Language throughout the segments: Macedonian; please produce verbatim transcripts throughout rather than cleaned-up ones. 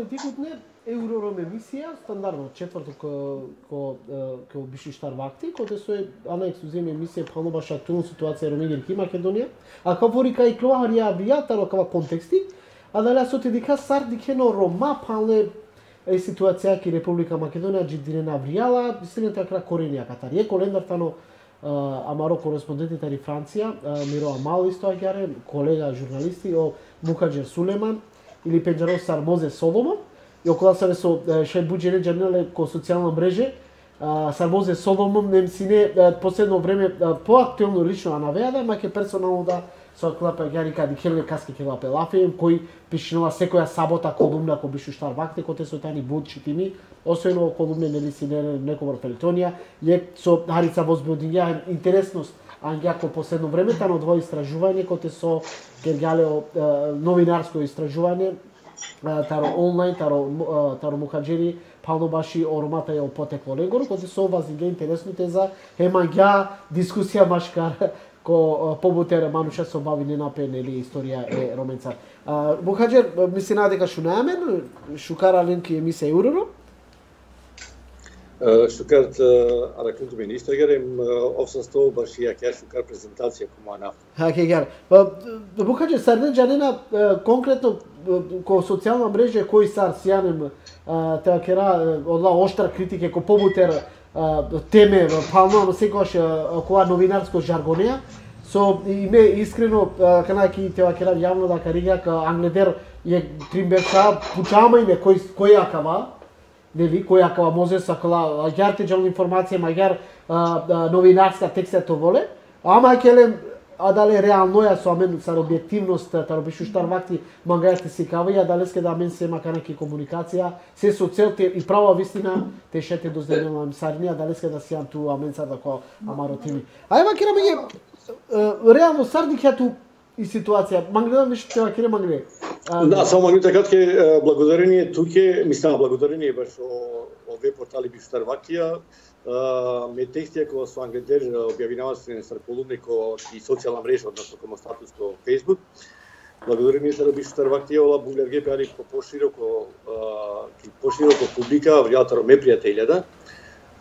политикот не Еврором емисија, стандардно, четврто ко, ко, ко биши штар вакти, кој со анекс уземе емисија пално баш актуелна ситуација Ромегер ки Македонија, а кај ворика и клоарија авијатаро кава контексти, а дали се отидика сар дикено Рома палне е ситуација ки Република Македонија джидине навријала, истината кра коренија катар. Е колендар тано амаро кореспонденти тари Франција, Миро Амал исто агјаре, колега журналисти, о Мукаџер Сулеман или Пенџаро Сармозе Соломон, и околу се со шај буџене джернале ко социјална мрежа, Сармозе Соломон немсине последно време поактуелно лично анавеа, маќе персонално да со клапа гјарика дикеле каски ке лапе лафе, кој пишнува секоја сабота колумна кој бише штар вакте, кој те со тани будчитими, освено колумне нели си некомор фелтонија, е со Харица возбудија интересност ангјако последно време тано дво истражување кој те со гергале новинарско истражување, таро онлайн, таро таро мухаџери пално баши оромата е потекло негоро, кој те со вазиге интересно те за емаѓа дискусија машкар ко побутер мануша со бави не напен или историја е роменца. Мухаџер мисли на дека шунамен, шукара ленки емисија Евроро. Шукарт аракунту министергарем овсасто баш ја ке шукар презентација комана. Ха ке гар. Мухаџер сарнен джанена конкретно ко социјална мрежа кој сар сјанем теа кера одла оштра критике ко побутер теме пално секогаш околу новинарско жаргонеа со име искрено канајки теа кера јавно да карига ка Англедер е тримберка пучама име кој кој акава нели кој акава може сакала агјарте джал информација маѓар новинарска текстето воле ама келе а дали реално ја со амен сар објективност таро бишу штар вакти мангајате си кавија дали ске да мен се мака неки комуникација се со цел те и права вистина те шете до земјава сарнија дали ске да сијам ту амен сар дако амаротими ајма кира меѓе реално сарник ја ту и ситуација мангледа нешто тева кира мангле да само мангледа кратке благодарение туке мислам благодарение баш о веб портали бишу штар вактија ме текстија која со Англедер објавинава се на колумнико и социјална мрежа, односно комо статус ко Facebook. Благодарение се бишу штар вактија, ола Бугарге пеали по пошироко, пошироко публика, вјатаро ме пријателја,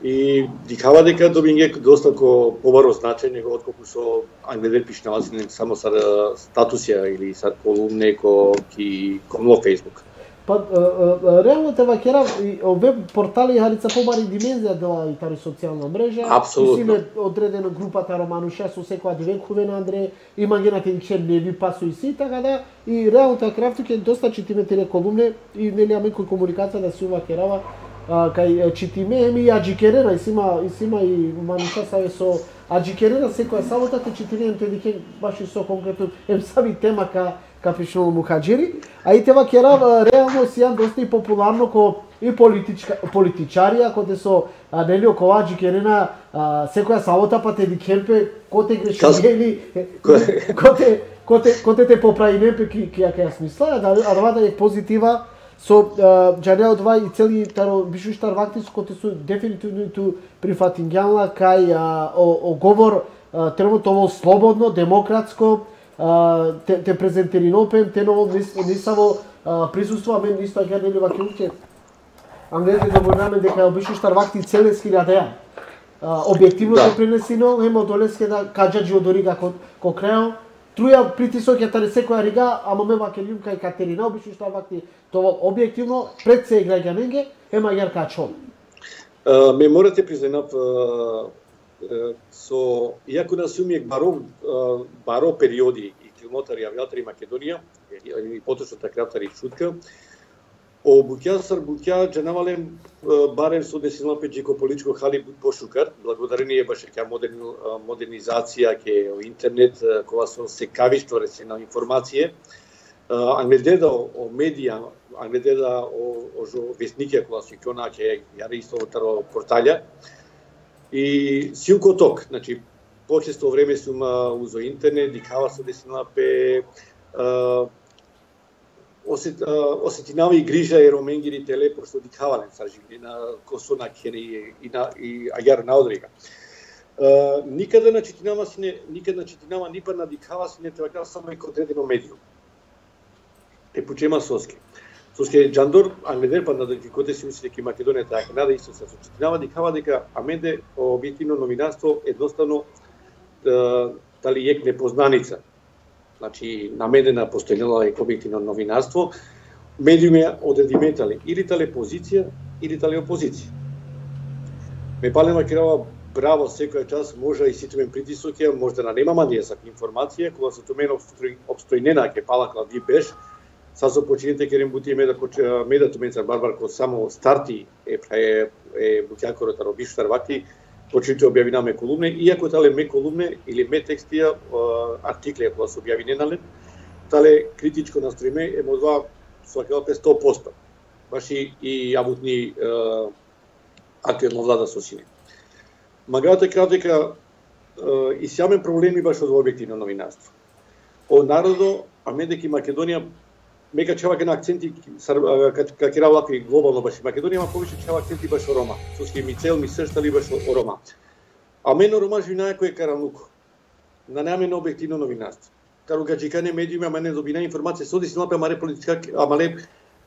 и дикава дека добинге доста ко побаро значај него отколку со Англедер пишнава се само сар статусија или сар колумне ко ки комло Facebook. Па реално те вакера и веб портали Харица побари димензија дела и тари социјална мрежа. Апсолутно. Симе одредена групата Романуша со секоја дивекове на Андре, има генате че не ви пасу и си така да и реално та крафтуке доста читиме теле колумне и нели аме кој комуникација да се ува керава кај читиме еми аџикерена и сима и сима и Мануша саве со аџикерена секоја сабота те читиме те дике баш и со конкретно ем сави тема ка капишнол мухаџери, а и тева кера реално сијан доста и популарно ко и политичка политичарија кој со нели околу аџикерена секоја сабота па те дикемпе коте греши или коте коте коте те поправи немпе ки ки ја ке смисла, а да да е позитива со джанео два и цели таро бишу штар вакти со коте со дефинитивно ту прифатингјална кај о говор тренутно ово слободно, демократско те, те презентери нопем, те ново нисаво присуства, мен исто ја нели вакилуќе. Англезите добронаме дека бишу штар вакти целес хилјадеа. Објективно се пренесено, емо долеске да каџаџи одорига ко, ко крео, труја притисок ја таре секоја рига, ама ме вакелиум кај Катерина, бишу штар вакти тоа објективно пред се граѓаненге, ема јар качол. Ме морате признав со иако нас умиек баро баро периоди и километари авиатори Македонија и поточно крафтари шутка о буќа сар буќа джанавалем барем со десилна пеџико политичко хали пошукар благодарение баш ке модерни модернизација ке интернет кога со секавиштво речено информација Англедеда о медија Англедеда о о вестникија кога се кона ке јари исто таро порталја и силко ток, значи почесто време сум узо интернет, дикава со десна пе осет осетинава и грижа и роменгери теле пошто дикавален са живи на косона кери и на и агар на одрига. Никаде на четинава си не никаде на четинава ни па на дикава си не треба само и одредено медиум. Е почема соски. Соске Джандор, Англедер, па на коте си мисли дека Македонија таа Канада исто се сочинава, дикава дека аменде објективно новинарство едноставно дали ек непознаница. Значи, намедена постојнела е објективно новинарство, медиуми одредиметали или тале позиција, или тале опозиција. Ме пале Македонија браво секоја час, може и ситумен притисок, може да нема мандија за информација, кога се томен обстојнена ке пала Клавди Беш, са со почините керем бути меда меда туменцар Барбар ко само старти е е, е бутјакорот робиш тарвати почите објавинаме колумне, иако тале ме колумне или ме текстија артикли кои се објавиненале, тале критичко настројме е можда свакалка сто проценти. Баш и, и абутни актуелно влада со сине. Магата кажа дека и сјамен проблеми баш од објективно новинарство. Од народо, а медеки Македонија мека чава ке на акценти ка ке работи глобално баш Македонија има повеќе чава акценти баш о Рома. Соски ми цел ми сештали баш о Рома. А мено Рома живина кој е карануко. На нема на објективно новинарство. Кару гаджикане медиуми ама не добина информација соди си напе амаре политичка амале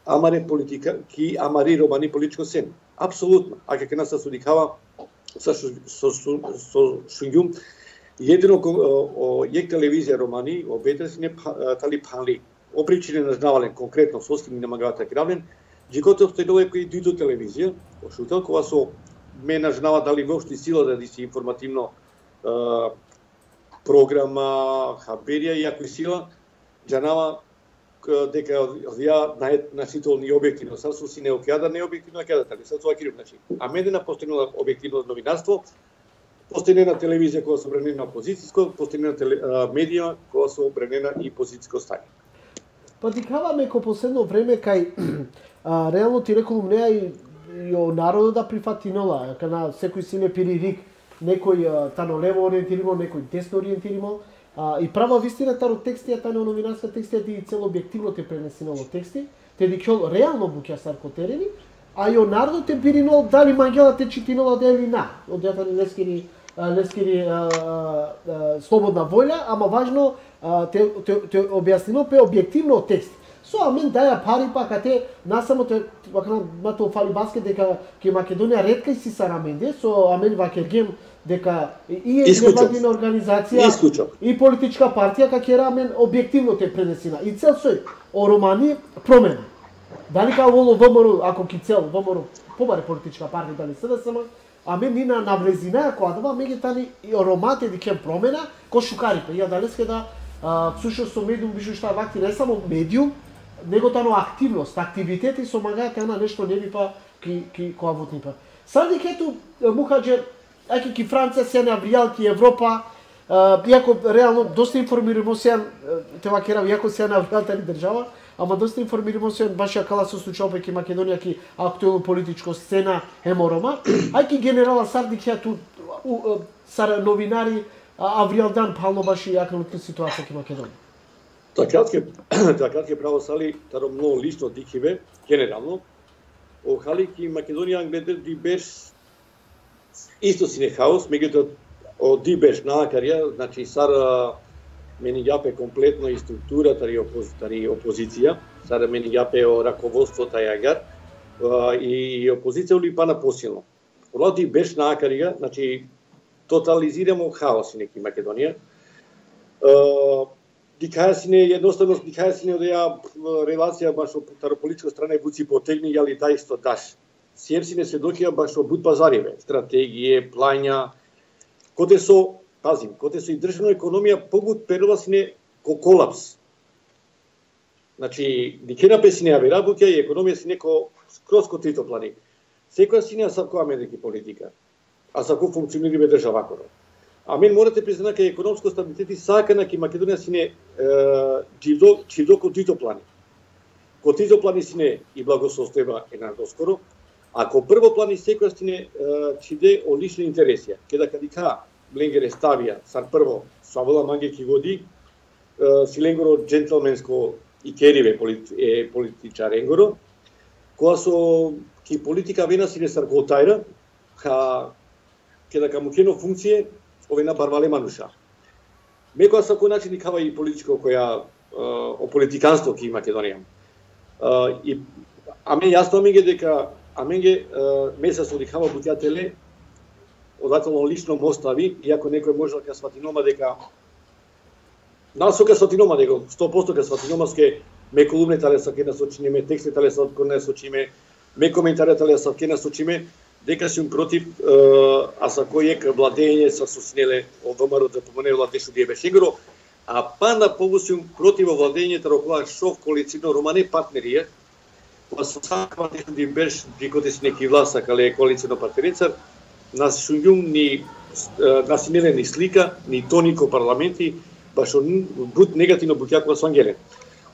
амаре политика ки амари романи политичко сен. Апсолутно. А ке нас судикава со со со шуњум едино о јек телевизија романи обетреси не тали пали опричине на знавален конкретно соски ми намагавата кравлен, джикото обстојало е кој дујдо телевизија, ошутел кога со ме нажнава дали воопшто сила да диси информативно е, програма, хаберија и ако сила, джанава дека ја најнасителни објективно, са со си не окјада, не објективно окјада, тали са тоа кирив, значи. А медена постојнала објективно новинарство, постојнена телевизија која се бранена опозицијско, постојнена медија која се бранена и позицијско стање. Па дикаваме ко последно време кај а, реално ти реколум неа и, и о народо да прифатинола, кана секој си не пиририк, некој а, тано лево ориентиримо, некој десно ориентиримо, а, и права вистина таро текстија, тано новинарска текстија ди цело објективно те пренесинало тексти, те дикјол реално буќа саркотерени, а и о народо те пиринол дали мангела те читинола дели на, од јата не скери не скери слободна волја, ама важно те, те, те објаснено пе објективно текст. Со амен даја пари пака те насамо те мато фали баскет дека ке Македонија ретка си сараменде со амен вакергем дека и е невладина организација Исклучок. и политичка партија ка амен објективно те пренесина. И цел сој о романи промена. Дали као воло ВМРО, ако ки цел ВМРО побаре политичка партија дали СДСМ, аме нина навлезина која дава меѓутоа и ромате дике промена ко шукарите. Ја далеске да всушност со медиум више што вакти не само медиум, него тано активност, активитети со магајата на нешто не бипа ки ки која вотнипа. Сади кето мухаџер, аки ки Франција се навријал ки Европа, иако реално доста информирано се тева керав иако се навријал тали држава, ама доста информирано се баш ја кала со случај ки Македонија ки актуелно политичко сцена еморома, ајки генерала Сарди ќе ту сар новинари авријал дан пално баш и јакната ситуација ки Македонија. Така ќе така ќе право сали таро многу лично дикиве генерално о хали ки Македонија гледа ди беш исто си не хаос, меѓутоа о ди беш наакарија, значи сара мени јапе комплетно и структурата и опозиција, опозиција, сара мени јапе о раководството јагар и опозиција ули пана посилно. Олади беш наакарија, значи тотализирамо хаос неки Македонија. Дикаја си не едноставно дикаја си не одеја релација баш од политичка страна и буци потегни јали да исто даш. Сием си не сведокија баш од бут пазариве, стратегија, плања, коде со пазим, коде со и државна економија побут перува си не ко колапс. Значи, дикена си не работја и економија си неко скроз ко трито плани. Секоја си не сакува медики политика, а саку функционира држава коро. А мен морате признати дека економско стабилитет и сакана ки Македонија си не чидо чидо ко трито плани. Ко трито плани си не и благосостојба е на доскоро, а ко прво плани секоја си не чиде о лични интереси. Кеда кадика Ленгере ставија сар прво Савола Манге ки годи Силенгоро джентлменско и кериве е политичар Енгоро, која со ки политика вена си не саркотајра, ха кеда камукено функције ове на барвале мануша. Мекоја со кој начин никава и политичко која о политиканство ки Македонија. и аме јасно аме ги дека аме ги месец одихава буќателе одателно лично му остави, иако некој може да сватинома дека насока сватинома дека сто проценти ка сватинома ке ме колумне талеса ке насочиме, тексти талеса ке насочиме, ме коментари талеса ке насочиме, дека сум против, а за кој е владење са соснеле од ВМРО да помине владешу ди бешегро, а па на повусум против владењето рокова шов коалицијно романе партнерија, кога со сакава дешу ди беш дикоте си неки власта кале коалицијно партнерица, нас шуњум ни насинеле ни слика, ни тонико парламенти, баш буд негативно буќакова со Ангеле.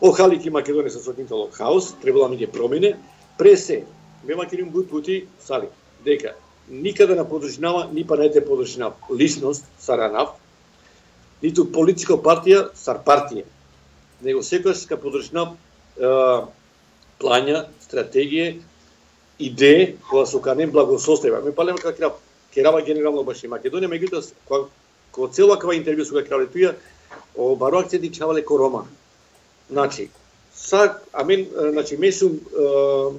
О халики Македонија се сокинтало хаос, требало ми ги промене, пресе, ме македонија буд пути сали, дека никаде на подржинава, ни па најте подржинав личност, саранав, ниту политичка партија, сар партија, него секојаш ка подржинав плања, стратегија, идеи, која со канем благосостојба. Ме палема како керава генерално баш и Македонија, меѓутоа кога цела кава интервју со крале туја, о баро акценти чавале ко Рома. Значи, са амен, значи месум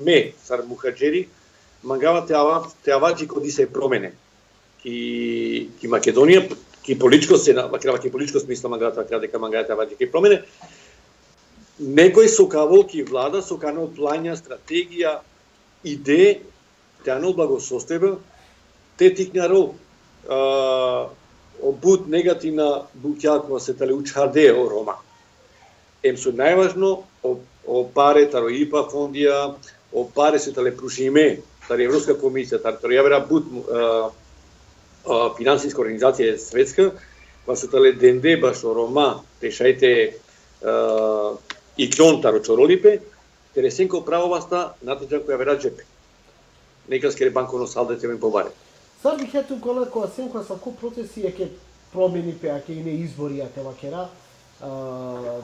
ме сар мухаџери, мангава те ава те аваџи коди се промене. Ки ки Македонија, ки политичко се на крава ки политичко смисла мангава крава дека мангава те аваџи ки промене. Некој со кавол ки влада со канал плања, стратегија, идеи, те анол благосостојба, те тикнарол обуд негативна буќакова се тале учарде о Рома. Ем со најважно о, о паре таро ИПА фондија, о паре се тале прушиме, таре Европска комисија, таре јавера буд финансиска организација светска, па се тале денде баш о Рома, решајте и клон таро чоролипе, тересенко правоваста натаџа која вера джепе. Нека скере банковно салдо те ме побаре. Сар бих ето кола која сенко са ко процеси е ке промени пе аке и не избори а те вакера.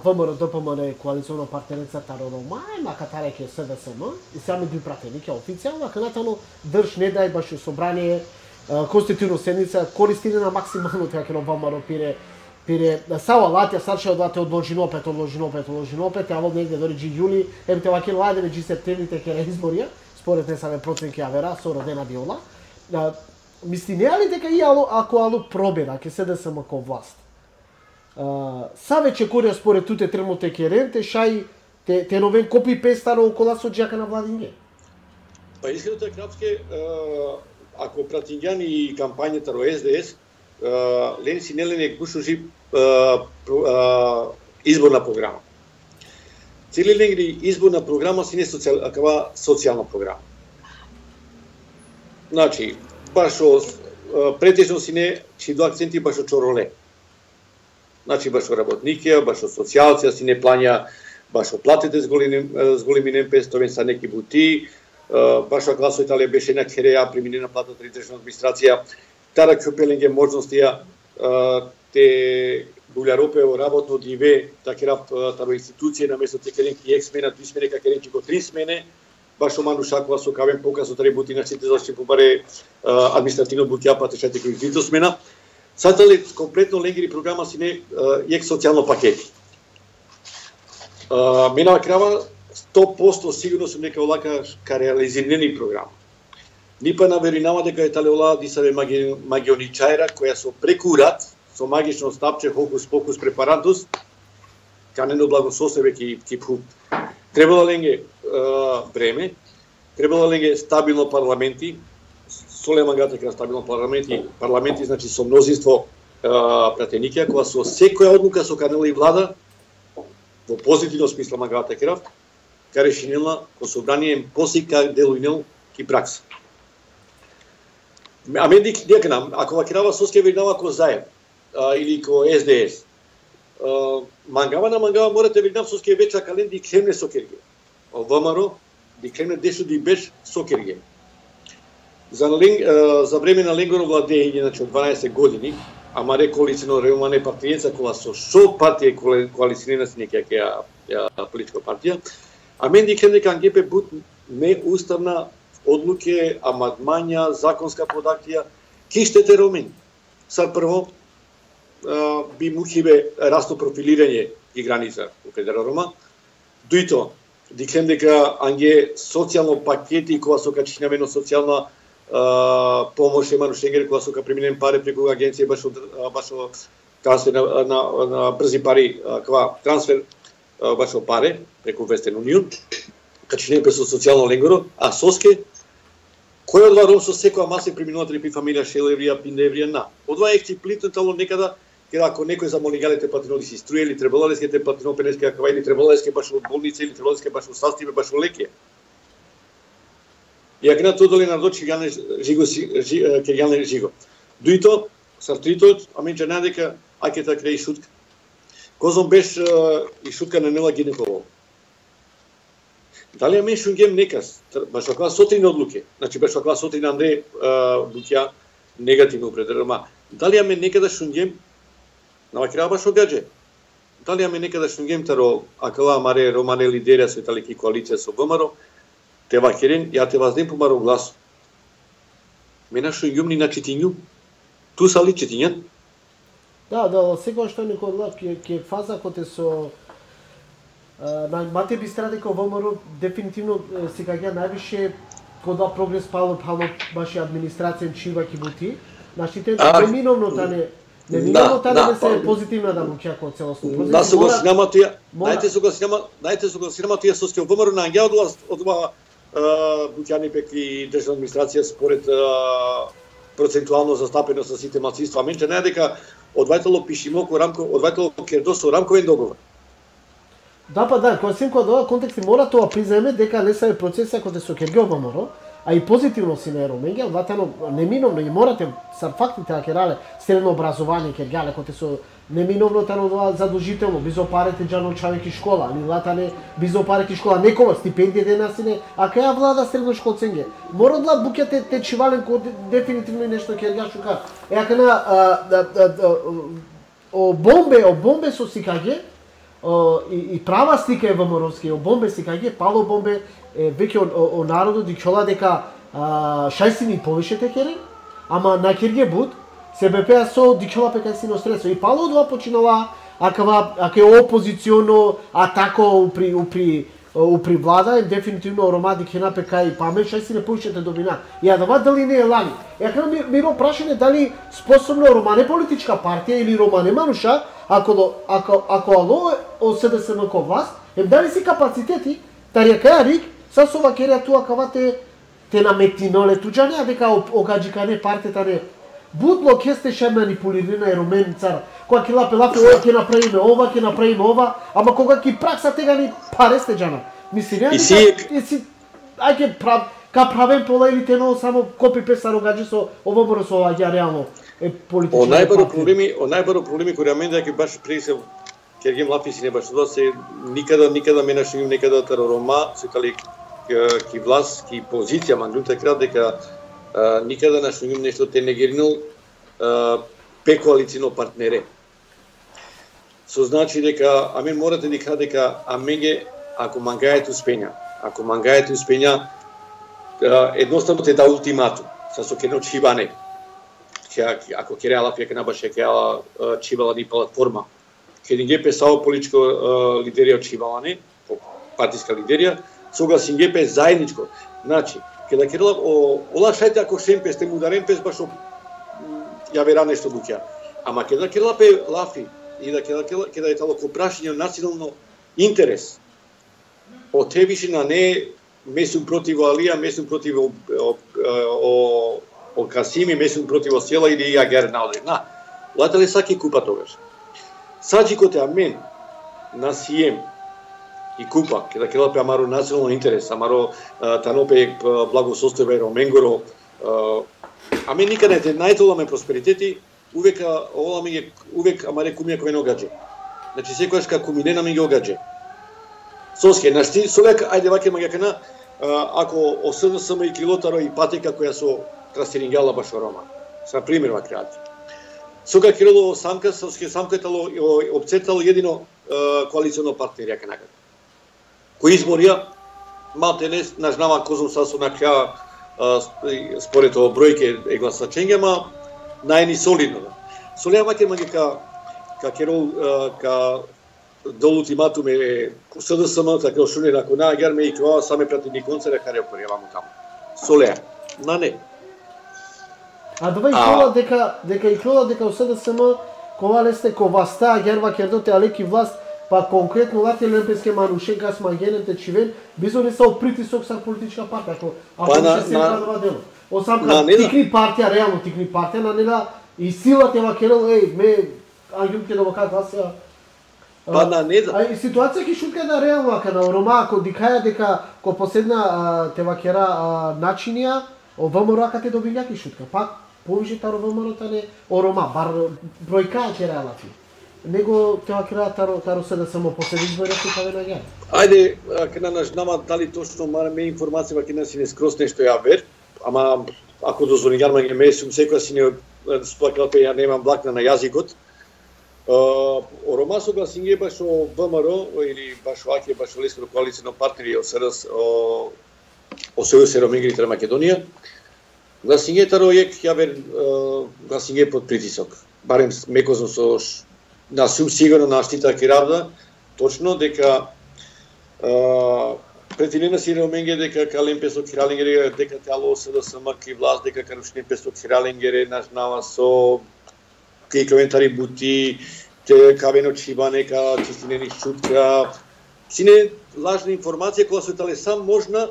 ВМРО ДПМН коалиционна партнерица таро Рома, мака таре ке СДСМ и сами би пратени ке официјално, а натано држ не дај баш собрание конститутивно седница користине на максимално така ке ВМРО пире пире сава латја сарше одвате одложино опет, одложино опет, одложино опет, а во негде дори джи јули, ем те ваке ладе джи септември ке изборија, според не саме проценки авера со родена биола. Мисли, не ли дека и ало, ако ало пробера, ке СДСМ ко власт? Uh, са веќе корија според туте тренуте керенте, шај те, те новен копи пестаро окола со джака на Владиње? Па искрено е крапске, ако пратињани и кампањата ро Ес Де Ес, лен си нелене гушужи изборна програма. Цели ленгри изборна програма си не социјал, акава социјална програма. Значи, башо претежно си не чи до акценти башо чороле. Значи башо работникија, башо социјалција си не плања, башо платите с големи с големи немпестовен са неки бути, башо гласо Италија беше на кереја преминена плата од државна администрација, тара купеленге можностија те Булјаропе о работно диве, такера таро институција на место текеленки ек смена, две смени какеренки го три смене, башо манушакова со кавен показ од ребути на сите зашти побаре административно буќапа тешате кои две смена. Сатали комплетно ленгери програма си не ек социјално пакети. Мена крава сто проценти сигурно сум дека олака ка реализирани програма. Ни па наверинава дека е тале ола дисаве магионичајра која со прекурат, со магично стапче хокус покус препарантус, канено благосостојбе ки ки пу. Требало ленге време, требало ленге стабилно парламенти, солема гата кра стабилно парламенти, парламенти значи со мнозинство пратеникија, кога со секоја одлука со канела и влада, во позитивно смисла магата крав, ка решенила ко собрание посика делујнел ки пракса. А мен дик дека ако вакирава соске веринава ко заем или ко Ес Де Ес, мангава на мангава морате веринав соске веча кален ди кремне сокерге. ВМРО ди кремне дешу ди беш сокерге. За, за време на Ленгоро владење, значи од дванаесет години, ама ре коалицијно ремане партијеца која со шо партија коалицијна си неке ја политичка партија, а мен дикем дека ангепе буд неуставна одлуке, амандмања, законска продакција, киштете ромени. Са прво, би мухибе расто профилирање и граница у Федера Рома, дуито диклем дека анге социјално пакети кога со качинамено социјална Uh, помош Еману Шенгер кога сока преминем пари преку агенција баш од баш од трансфер на, на, на брзи пари кога трансфер uh, баш од пари преку Western Union качинем со социјално ленгоро, а соске кој од ром со секоја маса преминуватели при фамилија Шелеврија, Пиндеврија на. Одва експлицитно некада кога ако некој за молигалите патриноти си струја или требалалеските патрино-пенески аква или требалалеске баш од болница или требалалеске баш од састиве баш од лекија. Ја гна тоа доле на дочи гане жиго ке гане жиго. Дуито сартрито аменче надека акета креј шутка. Козом беш и шутка на нела гинеколог. Дали амен шунгем некас баш аква сотрин одлуке. Значи баш аква сотрин Андре буќа негативно определено. Дали амен некада шунгем на вакра баш огадже. Дали амен некада шунгем таро акала маре романе лидерија со италики коалиција со ВМРО. Те вакерен, ја те ваздем помаро глас. Мена шо јумни на четињу. Ту са ли четињан? Да, да, секоја што некој глав ке ке фаза коте со на мате би стратеко ВМРО дефинитивно сега ја највише кога прогрес пало пало баш администрација чива ки бути. Значи те неминовно тане неминовно тане не се позитивна да буќа како целосно. Да согласинама тоа. Најте согласинама, најте согласинама тоа со ке ВМРО на ангел од од буќани пеки државна администрација според uh, процентуално застапено со сите малцинства. Менче не дека одвајтало пишимо ко рамко, одвајтало кердо со рамковен договор. Да, па да, кога сим кога дова контекст мора тоа приземе дека не се процеса кој со Кергио ВМРО, а и позитивно си на Роменге, одватано неминовно и морате са фактите да керале средно образование Кергиале кој со неминовно тано тоа задолжително бизо парите џано чавеки школа, ани латане бизо пареки школа, некога стипендија денасине, а каја влада средно школценге. Мора да буќате те чивален кој дефинитивно нешто Кергиа шука. Е ака на о бомбе, о бомбе со сикаѓе, и, и права слика е ВМРО-ски, о бомбе сикаѓе, пало бомбе веќе о, о народот дикола дека шајсини повишете кере, ама на Кергие буд се бепеа со дикола пека сино средство. И пало два починала акава аке опозиционо атако упри упри упри влада, дефинитивно Рома дикена пека и памет шај си не повишете добина. Ја да дали не е лани. Ја кажам ми, ми прашање дали способно Рома не политичка партија или Рома не мануша, ако ако ако ало о СДСМ ко власт, ем дали си капацитети, тарија каја рик, са со вакерија туа кавате те наметиноле туџане, а дека огаџикане партията не будло ке сте ше манипулирана е Ромен цар. Кога ќе лапе лапе ова ќе направиме ова, ќе направиме ова, ама кога ќе пракса тега ни паре сте џана. Мисли не дека си ајде прав ка правен пола или тено само копи песа рогаџи со ова мора со ова ја реално е политички. О најбаро проблеми, о најбаро проблеми кои рамен дека баш присел Кергем лапи си не баш тоа се никада никада мене што им некада Рома се тали ки власт ки позиција мандута крат дека Uh, никада на што им нешто те негеринал uh, пекоалицино партнере. Со значи дека амен морате дека дека аменге ако мангајате успења, ако мангајате успења uh, едноставно те да ултиматум. Са со кено чибане. Ќе ако ќе реала ќе на баше ќе ала чибала ни платформа. Ќе ни гепе сао политичко uh, лидерија чибалане, партиска лидерија, согласен гепе заедничко. Значи ке да керла о олашајте ако шемпе сте му дарен пес баш ја вера нешто буќа. Ама ке да керла пе лафи и да ке да керла ке да е тало ко прашање национално интерес. О те више на не месум против Алија, месум против о, о, о, о Касими, месум против о Села или ја Гернаудри. На, латале саки купа тогаш. Саџикоте амен на Сием и купа, ке да келапе амаро национално интерес, амаро танопе благосостојбе Роменгоро, аме никаде те најтоламе просперитети, увек овола ми увек амаре кумија кој не огаѓа. Значи секогаш како куминена ми ги огаѓа. Соске, нашти солек, ајде ваќе магакана, ако о СДСМ и Килотаро и патека која со трастерингала баш Рома. За пример вакреати. Сога Кирилово самка, соске самкатало обцетало едино коалиционо партнери јака накаде. Кои изборија, малте не нажнава козум са со накраја според о бројке е гласачење, ма најни солидно. Солија маке маге ка ка Керол ка дол ултиматуме СДСМ, така што не ако на агар ме и тоа саме прати ни концерт каре опремамо таму. Солеа. На не. А дова и кола дека дека и кола дека СДСМ кога лесте коваста герва кердоте алеки власт па конкретно лате лемпеске манушенка смагенете чивен бизо не са притисок са политичка партија ако ако ќе се крадува дело. Осамка тикни партија реално тикни партија на нега и силата ема керел еј ме ангел ќе довака гласа. Па на не. А и ситуација ќе шутка да реално ака на Рома ако дикаја дека ко последна те вакера начинија о ВМРО кате добиња ќе шутка. Пак повише таро ВМРО не о Рома бар бројка ќе реалати. Него тоа креа таро таро се да само после избори се каде наѓа. Ајде, кога наш нама дали точно ме информација кога си не скрос нешто ја вер, ама ако дозволи јарма ќе ме сум секоја си не сплакал пе ја немам блакна на јазикот. О Рома согласиње баш о ВМРО или баш о АК баш о Леско коалицијно партнери о СРС о о Сојуз Ромингрите на Македонија. Гласиње таро јек ја вер гласиње под притисок. Барем мекозно со на сум сигурно на штита Киравда, точно дека претилена си Роминге дека Калем Песо Киралингере дека тяло СДСМ ки власт дека Карушни Песо Киралингере наш нава со ки коментари бути те кавено чибане ка чистинени шутка сине лажна информација која се тале сам можна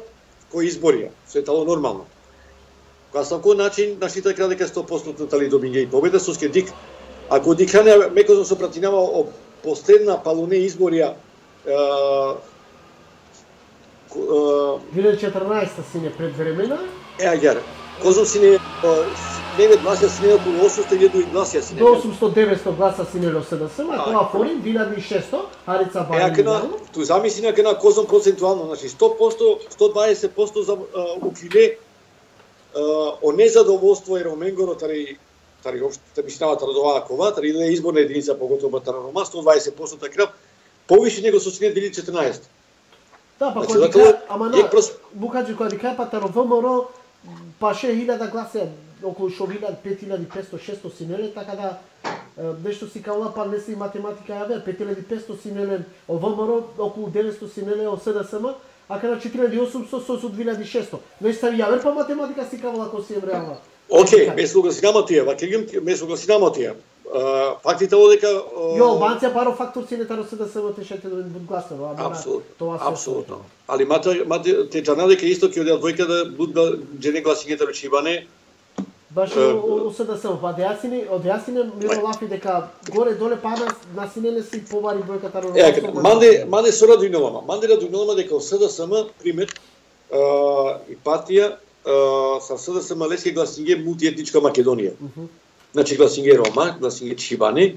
кој изборија се тало нормално кога сам кој начин на штита Кирал дека сто проценти тали добиње и победа со скедик ако дикане мекозно се пратинава о последна палуне изборија две илјади и четрнаесетта сине пред времена. Е, аѓар. Козом сине девет гласа сине околу осумстотини илјади гласа сине. До осумстотини деветстотини гласа сине до СДСМ, а тоа форин две илјади и шестоста Харица Барин. Е, кена, ту замисли на кена Козом процентуално, значи сто проценти, сто дваесет проценти за укиле о незадоволство е Роменгоро тари тари општа мислава Тарадова кова, тари иле изборна единица поготово Тарарома сто дваесет проценти така повише него со сине две илјади и четрнаесетта. Да, па кога дика, ама на Букаџи кога дика па таро ВМРО па шест илјади гласа околу шо пет илјади петсто шесто синеле, така да нешто си каула па не си математика ја вер, пет илјади петсто синеле о ВМРО, околу деветсто синеле о СДСМ, а каде четири илјади и осумстотини со две илјади и шесто. Нешто се ја вер па математика си каула ако си е реална. Океј, ме согласинamo тие, вакегим ме согласинamo тие. Фактите одека Јо, Албанција паро фактор си не таро се да се отешете да бут гласово, ама тоа се апсолутно. Али мате мате те джана дека исто ќе одел двојка да будат джене гласињата речибане. Баш о се да се па јасини, од јасине миро лафи дека горе доле пана на синеле си повари бројка таро. Е, манде манде со Радујнолама, манде Радујнолама дека СДСМ пример и партија sa СДСМ лески гласиње мултиетничка Македонија. Значи гласиње Рома, гласиње Чибани,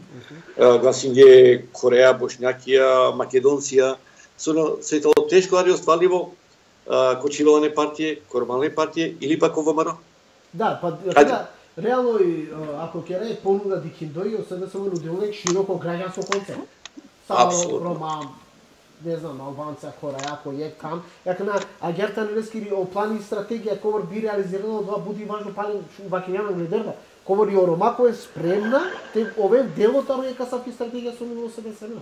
гласиње Кореја, Бошњакија, Македонција, со се тоа тешко ари остваливо ко Чивалане партија, ко Ромалне партија или пак ко ВМРО. Да, па да, реално и ако ќе ре понуда дикиндои, СДСМ нудилник широко граѓанско концепт. Само Рома, не знам, Албанција, Кореја, кој е там. Јака на агерта нелески о плани и стратегија ковар би реализирано, тоа буди важно пален вакињана гледерда. Ковар и о Рома кој е спремна, те ове делот аро е касавки стратегија со ниво СДСМ.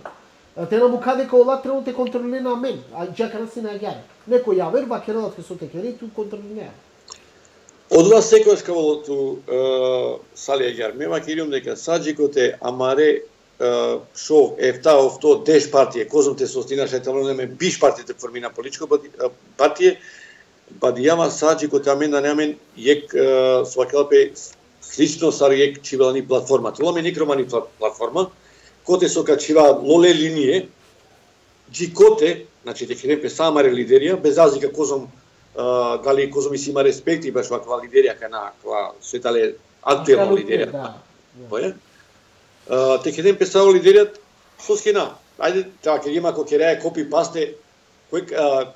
Те на му каде као ла тренот е контролирана мен, а џака на си на агјаре. Некој ја верба керелат ке со текери, ту контролирана. Од вас секојаш као ту сали агјар, мема кирим дека саджикоте амаре шо ефта овто деш партија, козом те состинаше талонеме биш партијата формина политичко партија, бадијама саджико тамен да неамен јек свакалпе слично сар јек чивални платформа. Толаме некромани платформа, коте со качива лоле линие, джикоте, значи текерепе самаре лидерија, без разлика козом дали козом и си има респект и баш ваква лидерија кана, кога светале актуелна лидерија. Боја? Те ќе ден песао лидерјат со скина. Ајде, така, ќе има кој ќе копи пасте, кој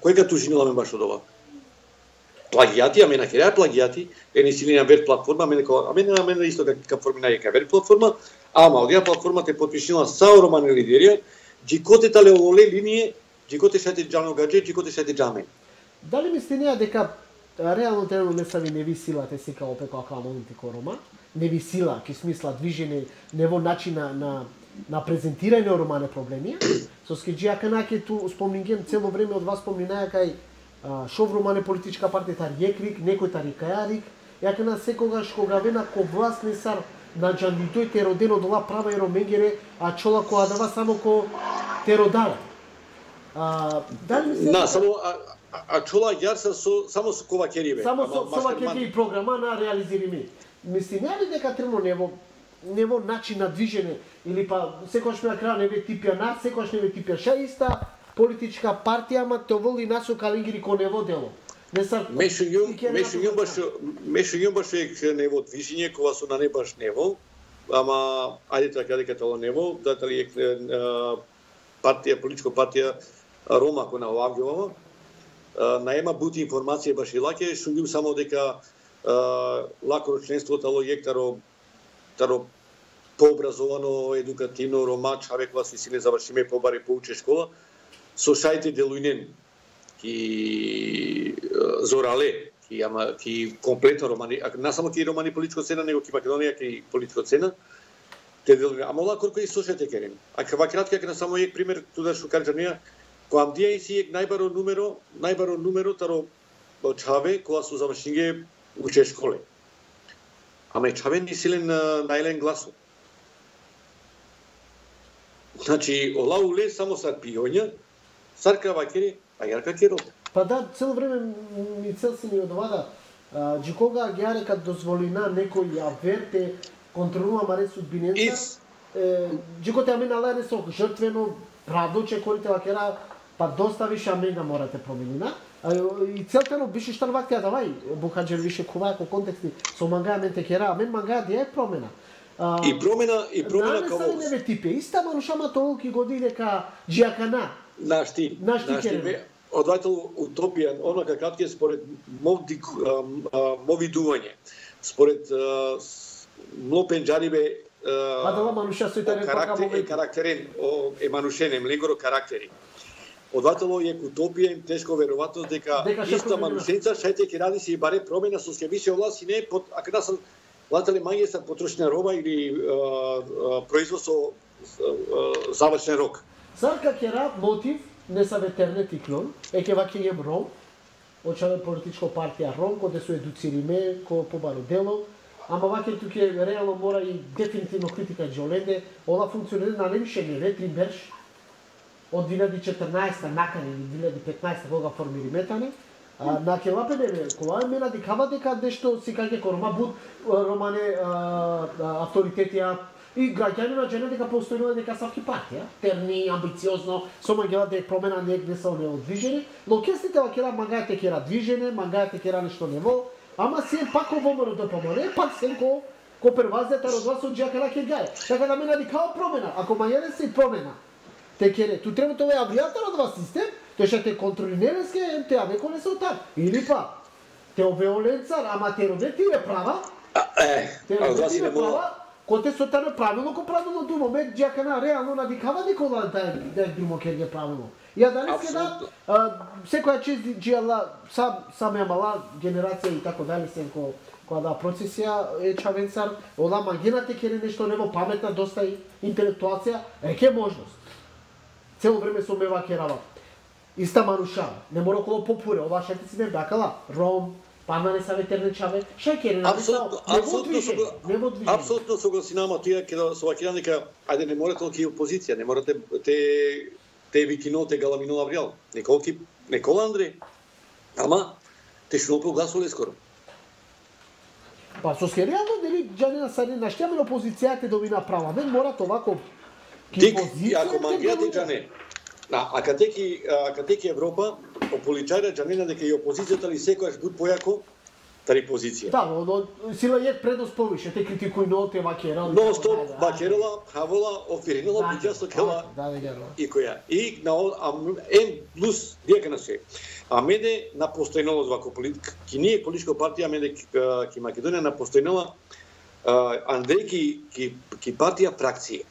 кој ка тужинила ме баш од ова. Плагијати, а мене ќе реа плагијати, е не силина вер платформа, мене ко, а мене на мене исто како формина е вер платформа, ама одија платформа те подпишила сао романе лидерија, џикоте тале оле линие, џикоте шати џано гадже, џикоте шати џаме. Дали мислите дека реално трено не са ви не ви силате сека опе која кламонти корома? Не ви сила, ки смисла движење, не во начин на, на, на презентирање романе проблеми, со Со скеџија канаке ту спомнинген цело време од вас споминаја кај шовромане политичка партија тарјекрик, некој тарикајарик, ја кана секогаш кога вена ко власт не сар на джандитој те родено дола права и роменгере, а чола ко адава само ко те родара. А, дали ми се... Да, само а, а чола јарса со само со ковакериве. Само со ковакери програма на реализираме. Мислим, ја ли дека трено нево нево начин на движење или па секогаш ме на крај не ве типја нас, секогаш не ве типја ша иста политичка партија, ама те воли насо калингири ко нево дело. Не са Мешо јум, мешо јум баш мешо јум баш е нево движење кога со на не баш нево, ама ајде така дека тоа нево, дали е партија, политичка партија Рома кој на Лавѓова, наема бути информација баш и лаке, што јум само дека лако членството ало ектаро таро пообразовано, едукативно, рома, човек вас си не завршиме побаре поуче школа, со шајте делујнен ки зорале, ки ама ки комплетно романи, а не само ки романи политичко цена, него ки Македонија ки политичко цена. Те делујнен, ама лако кој слушате керем. А кава кратка ке на само ек пример туда што кажа неа, кога амдија си ек најбаро нумеро, најбаро нумеро таро чаве кога со завршинге уче школе. Ама чаве ни силен најлен гласо. Значи, ола уле само сар пиоња, сар кавакери, а јарка керот. Па да, цело време ми цел се ни одвада. Джи кога ги арека дозволина некој ја верте контролува маре судбиненца, джи коте амена лајне со жртвено, правдо, че корите вакера, па доста више аменга морате променина. И целта но бише штар вакти адавај, Бухаџер више куваја ко контексти, со мангаја мен те кера, амен мангаја дија е промена. И промена, и промена како... Да, не се типе, иста манушама толки години дека джиакана. Нашти, нашти, одвајтел утопија, она какатки според мови, мовидување, според млопенџарибе Адала мануша со итарен карактер, карактерен, е манушене, млегоро карактери. Одвајтело е утопија, им тешко веројатно дека, дека иста манушенца шајте ќе ради си и баре промена со ке више власт и не под ако да се латале мање са потрошна роба или производ со завршен рок. Сарка кера мотив не са ветернет и клон, е ке ваќе ем ром, очаве политичко партија ром, коде се едуцириме, ко побаро дело, ама ваќе туке реално мора и дефинитивно критика Џоленде, ола функционира на немише не ветри берш, од две илјади и четрнаесета накаде или две илјади и петнаесета кога формири метане, на келапене кога мена дикава дека нешто си каѓе корома буд романе авторитетија и граѓани на джена дека постојува дека савки партија, терни, амбициозно, со мангела дека промена негде се не одвижени, но кестите вакера мангајате кера движене, мангајате кера нешто нево, ама си е пак овоморо да помоне, пак се ко ко первазата розвас од джакара ке гај. Така да мена дикава промена, ако мајене се промена. Те кере, ту треба тоа авијатор од вас систем, тој ќе те контролиреске ем те а некој не се отак. Или па те обеоленцар, ама те роде тие права. Е, те роде тие права. Кој те сотане правилно, ко правилно ду момент джакана реално надикава никола да да друмо ке правилно. Ја данеска да секоја чест джиала сам саме мала генерација и така дали се ко кога да процесија е чавенцар, ола магината ке нешто нево паметна, доста интелектуација, е ке можност. Цело време со мева керава. Иста маруша, не мора коло попуре, ова шете си не бакала, ром, пана не са ветерне чаве, шај кере, апсолутно, апсолутно, апсолутно согласинама тие ке со вакира дека ајде не мора толку опозиција, не мора те те те викино те галамино авриал, неколки Никола Андреј, ама те што прогласувале скоро. Па со скеријано дели џанина сади наштиаме опозицијата добина права, не мора овако Тик, ако мангијате џане, а катеки, а катеки Европа, ополичајра џанина дека и опозицијата ли секојаш буд појако тари позиција. Да, но сила е предност повише, те критикуј но те вакерала. Но стоп, вакерала, хавола, офиринала, буѓа со кела и која. И на М плюс дека на се. А мене на постојнало вако политика, ки ние политичка партија, мене ки Македонија на постојнала Андреј ки ки партија фракција.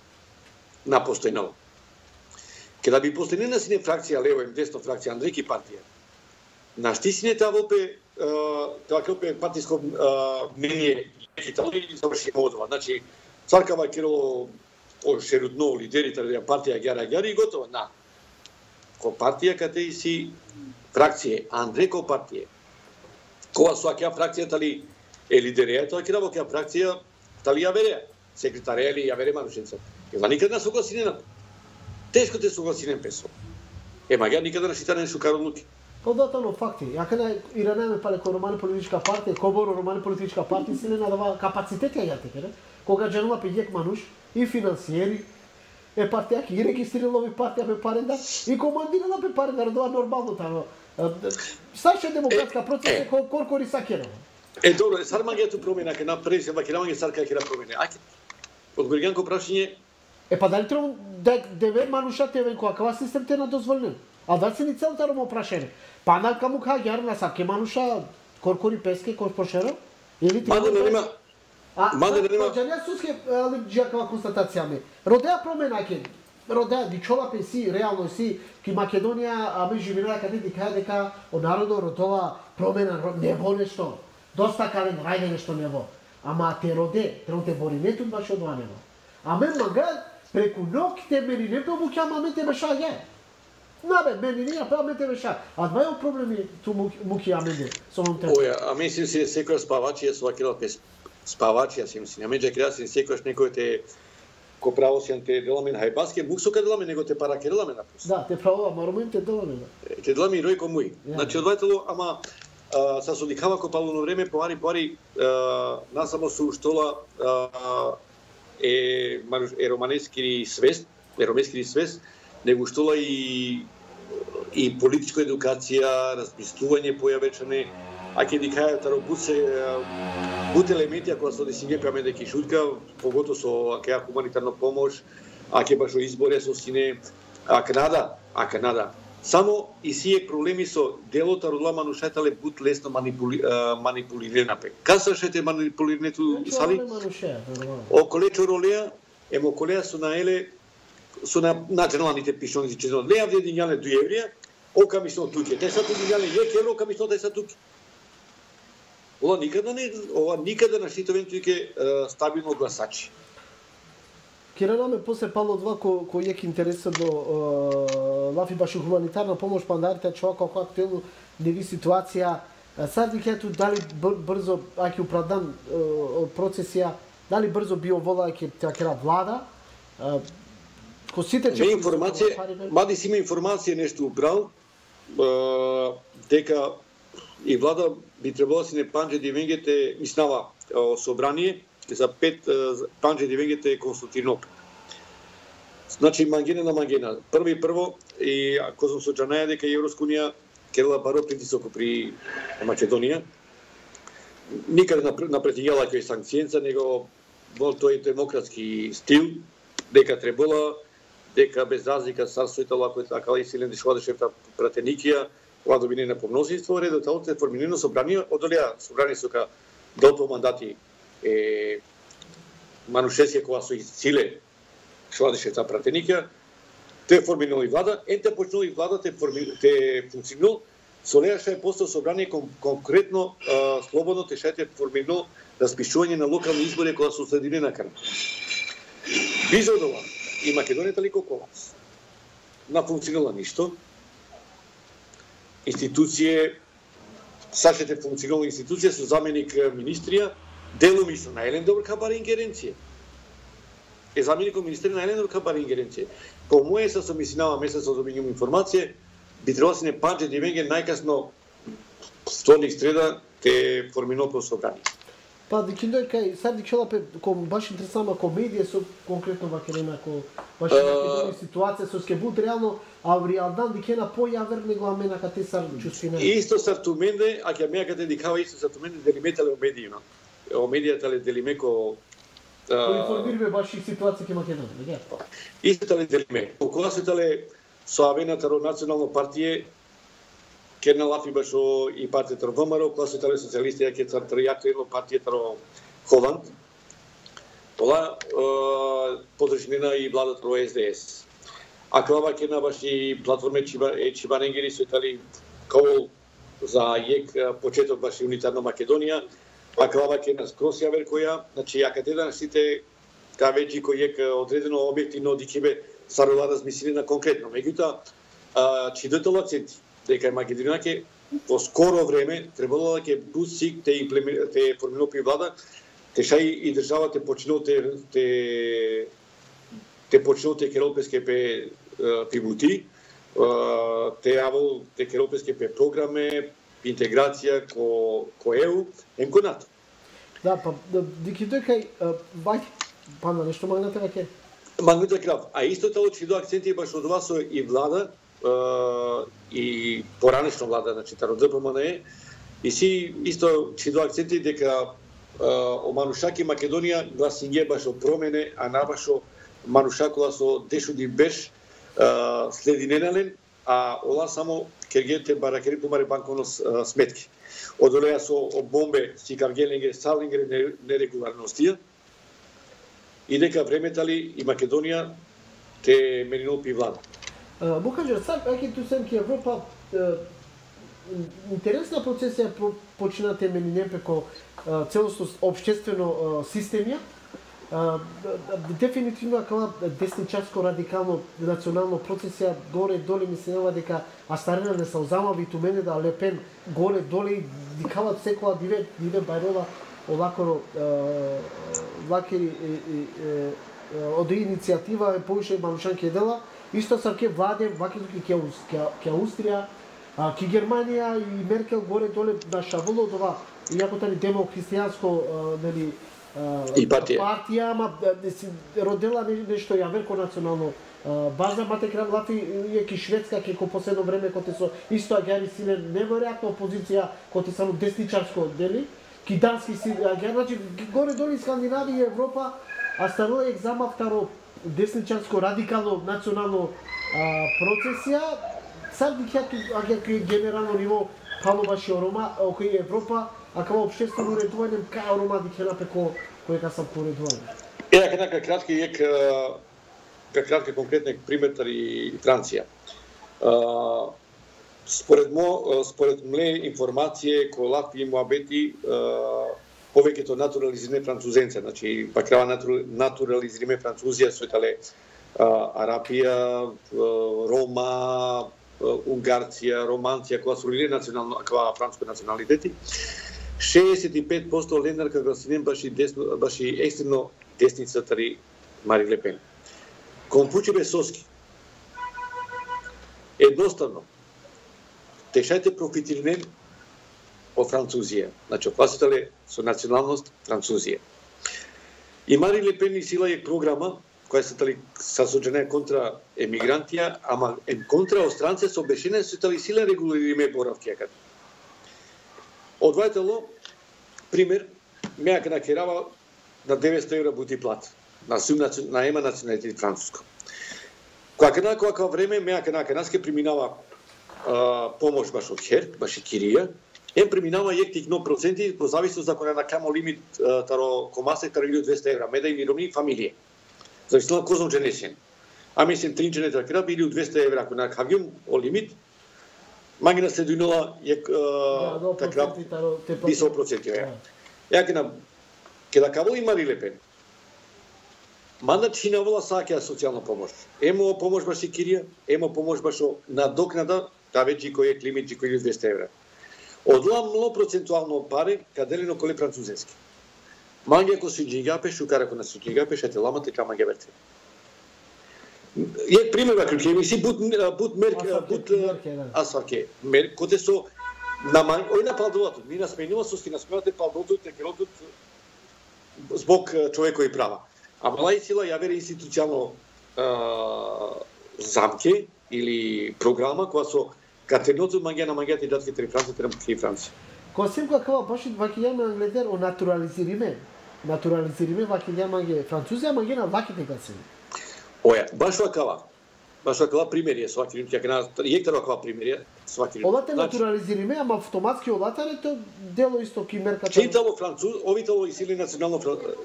На постојнало. Кога би постојнена сине фракција лево и десно фракција Андрејки партија. На шти сине таа опе тоа опе партиско мнение Италија и заврши одва. Значи царкава Кирило о шерудно лидерите на партија Гјара Гјари и готово. На. ко партија каде и си фракција, Андре ко партија. Кога со акја фракција тали е лидерија, тоа ќе работи акја фракција тали ја вереа, секретарија или ја вере Манушенца. Ема никаде не согласинена. Тешко те согласинен песо. Ема ја никаде не шитане шукаронуки. Податано факти. Ја кај Иранеме пале ко романи политичка партија, коборо романи политичка партија се не надава капацитет ја јате, не? Кога дженува пејек Мануш и финансиери е партија ки регистрирала овие партија пе паренда и командирала пе паренда, родова нормално тамо. Саша демократска процес е коркори сакера. Е добро, сар магијато промена ке направи се македонија сарка ќе промени. Ајде. Одговориганко прашање. Е па дали треба да деве Мануша тевен која кава систем те на дозволен. А да се ни целта ромо прашање. Па на каму каѓар на саке Мануша коркори песке кој пошера? Или ти Мада нема. А, Мада нема. Джанија суске али джакава констатација ми. Родеа промена ке. Родеа дичола пе си реално си ки Македонија аме живеела каде ти кај дека од народо родова промена не во нешто. Доста кален рајде нешто не во. Ама те роде, треба те бори не тут баш од ванево. Аме мага преку ноќте мени не помуќа, ама те беша ја. Набе, мени не па ме те беша. А два е проблеми ту муки аменде со он треба. Оја, а мислим си секој спавачи е свакила пес спавачи, јас мислим. Аме ќе се секојаш некој те ко правосјан те деламе на хајбаске, мук со деламе него те паракереламе на пус. Да, те право, ама те деламе. Те деламе и рој ко муј. Значи одвајтело, ама Uh, sa sodikava ko palno vreme povari povari uh, насамо со штола uh, е е романески свест, е романески свест, него штола и и политичка едукација, размислување појавечане, а ќе дикаја таро буце бут елементи ако со десиње каме дека шутка, погото со акеа хуманитарна помош, а ќе башо изборе со сине, а Канада, а Канада само и сие проблеми со делото родила Манушетале бут лесно манипули, манипулирана пе. Касашете манипулирането сали? О колечо ролеа, емо колеа со наеле со на националните пишоници че не јавде дињале до еврија, ока мислно туќе. Те са туќе дињале јек евро, ока мислно те са туќе. Ова никаде не, ова никаде на штитовен туќе стабилно гласачи. Киренаме после пало два ко кој е интересот до лафи баш хуманитарна помош пандарите човека како актуелно неви ситуација. Сад викето дали брзо аки оправдан процесија, дали брзо био вола ќе текера влада. Ко сите че информација, мади си има информација нешто убрал дека и влада би требало си не панџе дивенгете мислава собрание за пет панџе дивенгете консултирно. Значи мангена на мангена. Прво и прво и ако сум со Джанаја дека Европска унија керала баро притисок при Македонија. Никаде напретијала кој санкцијенца, него во тој демократски стил дека требала дека без разлика царството ако така и силен дишвадешевта пратеникија, кога добине на помножество редот се формирано собрание, одолеа собрание сока до мандати е Манушесија кога со силе швадешевта пратеникија, те формирали влада, енте почнали влада те те функционал, со неа ше постал собрание кон, конкретно а, слободно те шете формирано распишување на локални избори кога се следили на крн. Бизодова и Македонија талико колапс. На функционала ништо. Институције, сашете функционална институција со заменик министрија, делумисно на елен добро кабар ингеренција. Е заменикот министер на елен добро кабар ингеренција. По моје се со мислинава месец од обињам информација, би требало се не панџе дивенге најкасно вторник среда те формино собрание. Па дикиндој кај сад дикшала пе ком баш интересна комедија со конкретно вакерена ко баш uh, ситуација со ке буд реално Авриалдан дикена појавер него амена кате сар чувствина. Исто сартуменде, а ќе меа кате дикава исто сартуменде делиметале о медијина. О медијата ле делимеко кој информираме баш и ситуација ке Македонија, не? Исто тале делиме. Кога се тале со авената национално партија Керна лафи башо и партијата ВМРО, кога се тале социјалисти, ја ке цартријако едно партијата Холанд. Тоа подржнена и владата во Ес Де Ес. А кога керна баш и платформе Чибаненгери се тали кол за јек почеток баш и унитарна Македонија, а кога керна скрос јавер која, значи ја каде да сите кавеџи кој јек одредено објективно дикибе сарова размислени на конкретно. Меѓутоа чидател акценти дека Македонија ќе во скоро време требало да ќе бусик те те формирано влада, те шај и државата почнува те те те почнува те европейски пе пивути, те јавол те европейски пе програме, интеграција ко ко Е У, ем ко НАТО. Да, па дики дека вај па на нешто магната веќе. Магната крав. А исто тоа че до акценти баш од вас и влада и поранешна влада, значи таро Д П М Н Е, и си исто че до акценти дека о Манушаки Македонија гласиње баш о промене, а набашо Манушакова со Дешуди Беш следи ненален, а ола само кергете баракери помаре банковно сметки. Одолеа со бомбе си каргеленге салингре нерегуларностија и дека времетали и Македонија те менинол пи влада. Му кажа, сад, аки ту сем ки Европа интересна процесија починате менинем преко целосно општествено системија, дефинитивно акала десничарско радикално национално процесија горе доле мислева дека Астарена не се озамави ту мене да Лепен горе доле дикават секоја диве диве Бајрова овако ваки од иницијатива е повише Манушанки дела исто са ке владе ваки ке ке Австрија, ке Германија и Меркел горе доле на шаволо ова иако тани демокристијанско нели и партија. Партија, ама си родела нешто јаверко национално база, мате крав Латви и ки Шведска ке ко последно време коте со исто агјари силе неверојатна опозиција коте само десничарско дели, ки дански си агјари, значи горе доле Скандинавија и Европа, а станува екзама второ десничарско радикално национално процесија, сад дикјату агјари генерално ниво палобаши Орома, окој Европа, а како општествено уредување кај Орома дикјана пеко кој ка сам поредување. Е, дека кратки ек ка кратки конкретни пример и Франција. Според мо според мле информација кој лапи муабети повеќето натурализирани французенци, значи пакрава натурализирани французија со итале Арапија, Рома, Унгарција, Романција, која се лине национално, која франско националитети. шеесет и пет проценти ленарка гласинен баши десно, баши екстремно десница тари Мари Лепен. Компучи Бесоски. Едноставно. Тешајте профитирнен од Французија. Значи, класитале со националност Французија. И Мари Лепен и сила е програма која се тали сасоджена контра емигрантија, ама ем контра остранце со обешене се тали сила регулириме боравки акад. Одвајтело, пример, меја на керава на деветстотини евра бути плат, на сум на ема националитет француско. Која кај која време меја на канаске преминава а, помош баш од Хер, баш и Кирија, ем преминава јектик но проценти по зависност ако не накамо лимит а, таро комасе таро илјаду и двесте евра, меда и мировни фамилија. Зависно козо дженесен. А мислим тринчене така илјаду и двесте евра ако на кавјум о лимит, магина се дујнола јек така висок проценти. Ја ке на ке да каво и Мари Лепен. Мандат чинавола саќа социјална помош. Емо помош баш и Кирија, емо помош баш надокнада, та веќе кој е лимит кој е двесте евра. Одла мло процентуално пари каделено коле французенски. Маѓа ко си джигапе, шукара ко на си джигапе, шате ламате кама ги верте. Јек пример вака ќе ми си бут бут мерк бут асфаке. Мер коте со на мај ој на палдовато, ми насменува со ски насменувате палдото те керотот због човекови права. А мала сила ја вере институционално замке или програма која со катерното маѓа на маѓата и датки три Франција, три Франција. Кој сем која кава баш ваки јаме англедер о натурализириме. Натурализириме ваки јаме Французија, маѓа на ваките касени. Оја, баш вакава. Баш вакава примерија со ваки ќе на јектар вакава примерија со ваки. Олате натурализириме, ама автоматски олатаре тоа дело исто ки мерката. Читало француз, овитало и сили национално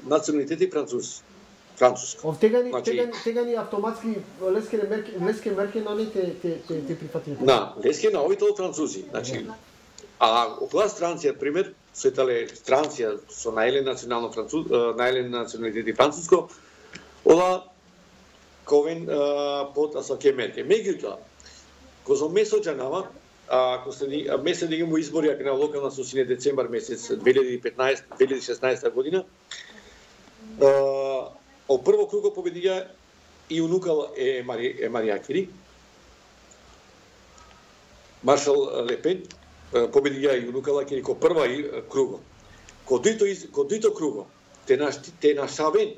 националитети француз. Француско. Ов тегани тегани тегани автоматски леске мерки леске мерки на не те те те, те прифатиле. На, леске на овитало французи. Значи а околу Франција пример, со итале Франција со најлен национално француз, најлен националитети француско, ова ковен под асаке мерки. Меѓутоа, козо месо джанава, ако се месец да имamo избори на локална сосине децембар месец две илјади и петнаесета две илјади и шеснаесета година, о прво круго победија и унукал е Мари е Марија Кири. Маршал Лепен победија и унукала Кири ко прва круго. Ко дито ко дито круго те на те на Шавен,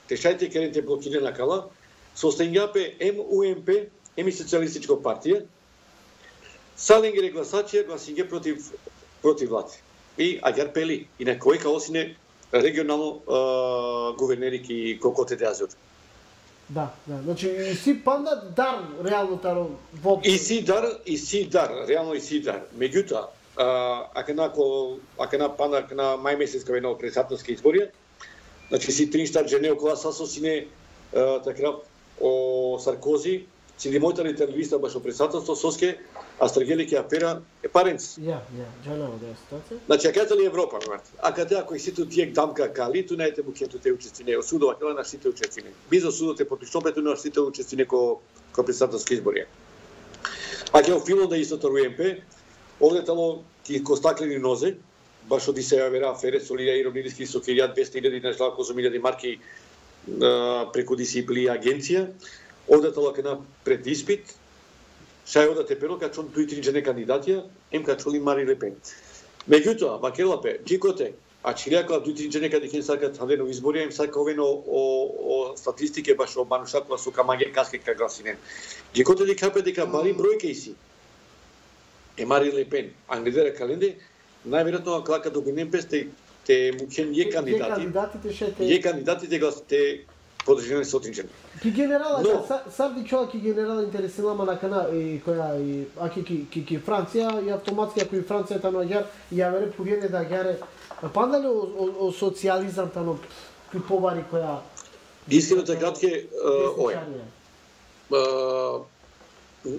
те шајте керенте блокирана кала, состојањапе Ем У Ем Пе, еми социјалистичко партија, саленгере гласачија гласиње против против влади. И Агар Пели и на кој каосине регионално гувернери ки Кокоте де Азор. Да, да. Значи и си панда дар реално таро во И си дар, и си дар, реално и си дар. Меѓутоа, ако на ако на панда на мај месец кога на председателски избори, значи си тринштар жене околу сасосине така о Саркози, си лимота литералиста баш о председателство соске Астрагели ке афера е паренц. Ја, ја, джанава да е ситуација. Значи, аката ли Европа, март? Аката ако и сите тие дамка кали, ту најте му кето те учестине, осудова кела на сите учестине. Бизо судот е подпишопето на сите учестине ко ко председателски избори. А ке филм да истото УМП, одетало ки ко стаклени нозе, баш оди се авера афере со Лилија Иромидиски со двеста илјади на Жлако со илјади марки преку дисциплини агенција, одетало кена пред испит, шај одате перо ка чон дуи три жене кандидатија, ем ка чоли Мари Лепен. Меѓутоа, вакелапе, джикоте, а чилјака дуи три жене каде кен сакат хавено избори, ем сака овено о, о статистике баш о манушакла со камање каске ка гласинен. Джикоте ди капе дека бари бројке иси. Е Мари Лепен, англидера календе, најверојатно клака до Генемпес те те мукен е кандидати. Кандидатите шете. Е кандидатите гласите подржани со отринчен. Ки генерала, Но, сарди чола ки генерала интересилама на кана и која и аки ки ки ки Франција и автоматски ако и Франција тано агар ја вере повиене да агаре панда ли о, о, о социјализам тано ки повари која искрено така ке ој.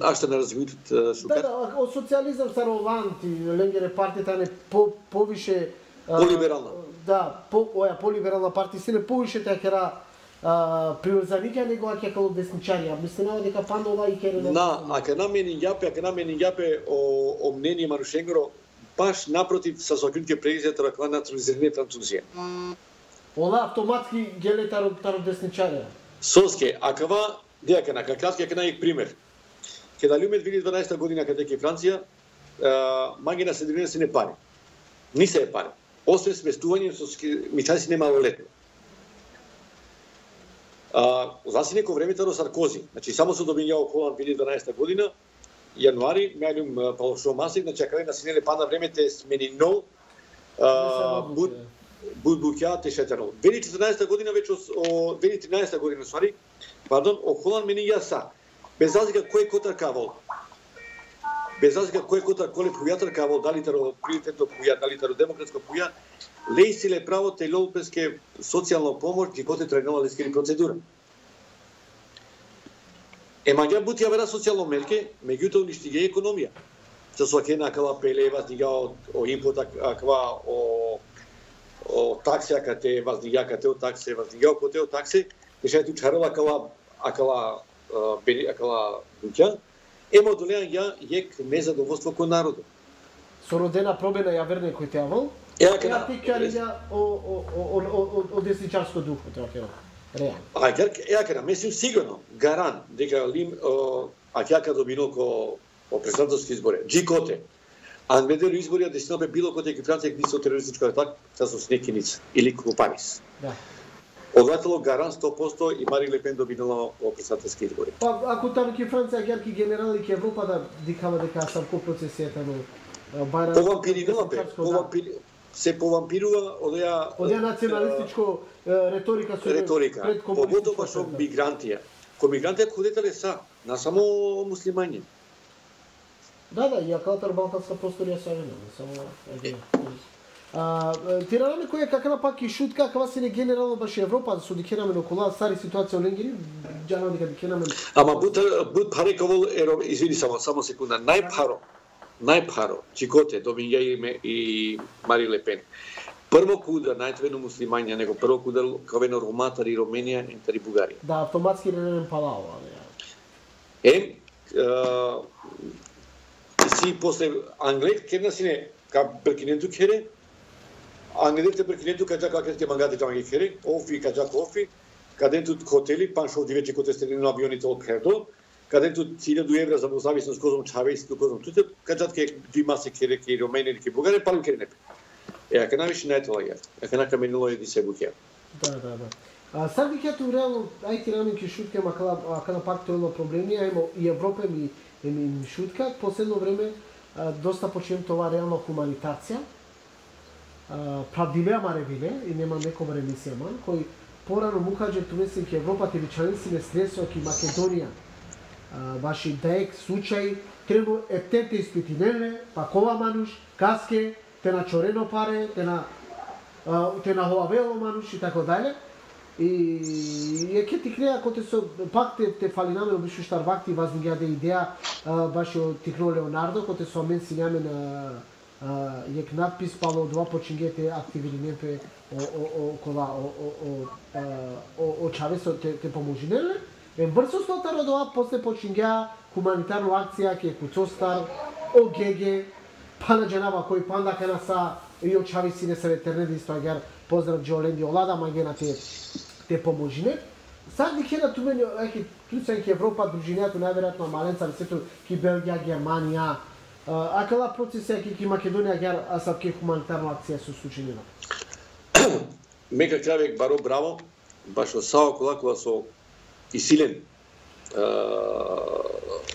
А што не развитот Шукар? Да, да, о социјализам Сароланти, Ленгере партијата не по повише полиберална. Да, по оја полиберална партија се не повише така приврзаниќа него аќе како десничарија. Мислам дека панда ова и кере на ака на мене јапе, ака на мене јапе о, о мнение Марушенгро баш напротив со закритке президент ракла национализиране Французија. Ова автоматски геле таро таро десничарија. Соске, акава дека на какатки ака најек пример. Ке дали уме две илјади и дванаесета година каде ке Франција, магина се дрина се не пари. Ни се е пари. Освен сместување со мичаси немалолетни. А, заси неко времето до Саркози. Значи само се добињао Холанд две илјади и дванаесета година, јануари, меѓум Палошо Масик, значи акаде на синеле пана времете смени нол, буд буд буќа те шетерол. две илјади и четрнаесета година веќе о две илјади и тринаесета година свари, пардон, о Холанд мени јаса. Без разлика кој котар кавол. Без разлика кој котар коле пујатар кавол, дали таро приоритетно пуја, дали таро демократско пуја, лејсиле право те лолпеске социјална помош ги коте тренала лескери процедура. Ема ја бути ја вера социјално мерке, меѓутоа уништи ги економија. Со свакена акава пеле воздига о импот аква о о такси акате воздига акате о такси воздига коте о такси, беше ту чарова акала акала бери акала буќа. Ема долеа ја ек незадоволство кон народот. Со родена пробена ја верне кој те авал. Ја кена тикариња о о о о о десничарско духо тоа ќе реално. А ја кена мислим сигурно гаран дека лим а ќе кај добино ко о председателски избори. Джикоте. А медеро избори да се било кој ќе Франција ги со терористичко атак со снекиница или Купанис. Да. Одатело гаран сто проценти и Мари Лепен добинала во председателски избори. Па ако таму ки Франција герки генерали ки Европа да дикава дека сам ко процесијата но бара повампирува бе, повампир се повампирува одеа одеа националистичко реторика со реторика. Поготоа со мигрантија. Ко мигрантија кодетеле са, на само муслимањи. Да, да, ја калтар балканска просторија са не само А, тираме која каква пак и шутка, каква се не генерално баш Европа, со дикенаме околу стари ситуација Ленгери, џано дека дикенаме. Ама бут бут парековол еро, извини само само секунда, најпаро, најпаро, чикоте добиња име и Мари Лепен. Прво куда најтвено муслимања, него прво куда кавено роматари Роменија, ентари Бугарија. Да, автоматски ренен палао, Е, си после англет керна сине ка беркиненту кере, англете беркиненту каджа какете мангати джанги кере, офи каджа кофи, каденту хотели, паншо дивече коте стерени на авионите од Кердо, каденту илјаду евра за зависност козом чавејски козом туте, каджат ке димасе кере ке Ромени ке Бугаре, палим кере непе. Е, ака навише најтола ја. Ака нака менило еди се буке. Да, да, да. А сад ги кето реално ајти рано ке шутке макала ака на пак тоа проблеми, ајмо и Европа ми ми шутка, последно време а, доста почнем това реално хуманитација. Правдиве амаревиле и нема некој ремисија ман кој порано му каже тумесен ке Европа те вичанси не средства ке Македонија. Ваши дек случај требу ептете испитинеле, пакова мануш, каске, те на чорено паре, те на те на хоавело мануш и така дале. И е ке ти креа коте со пак те те фали наме обишу штар вакти вознигаде идеја баш од Тихно Леонардо коте со мен си наме на јек надпис пало два почингете активни непе о о о кола о о о о Чавесо те те поможинеле. Е брзо стотаро тоа после почингеа хуманитарна акција ке Куцостар о ГГ пана дженава кој панда кена са и о Чавеси не се ветернеди стагар поздрав Джоленди Олада магена те те поможине. Сад ги кена ту мене еки туцен ке Европа дружињето најверојатно маленца сето ки Белгија, Германија. Акала процесија ки Македонија гар асап ке хуманитарна акција со случајно. Мека Кравек баро браво, баш со сао колакова со и силен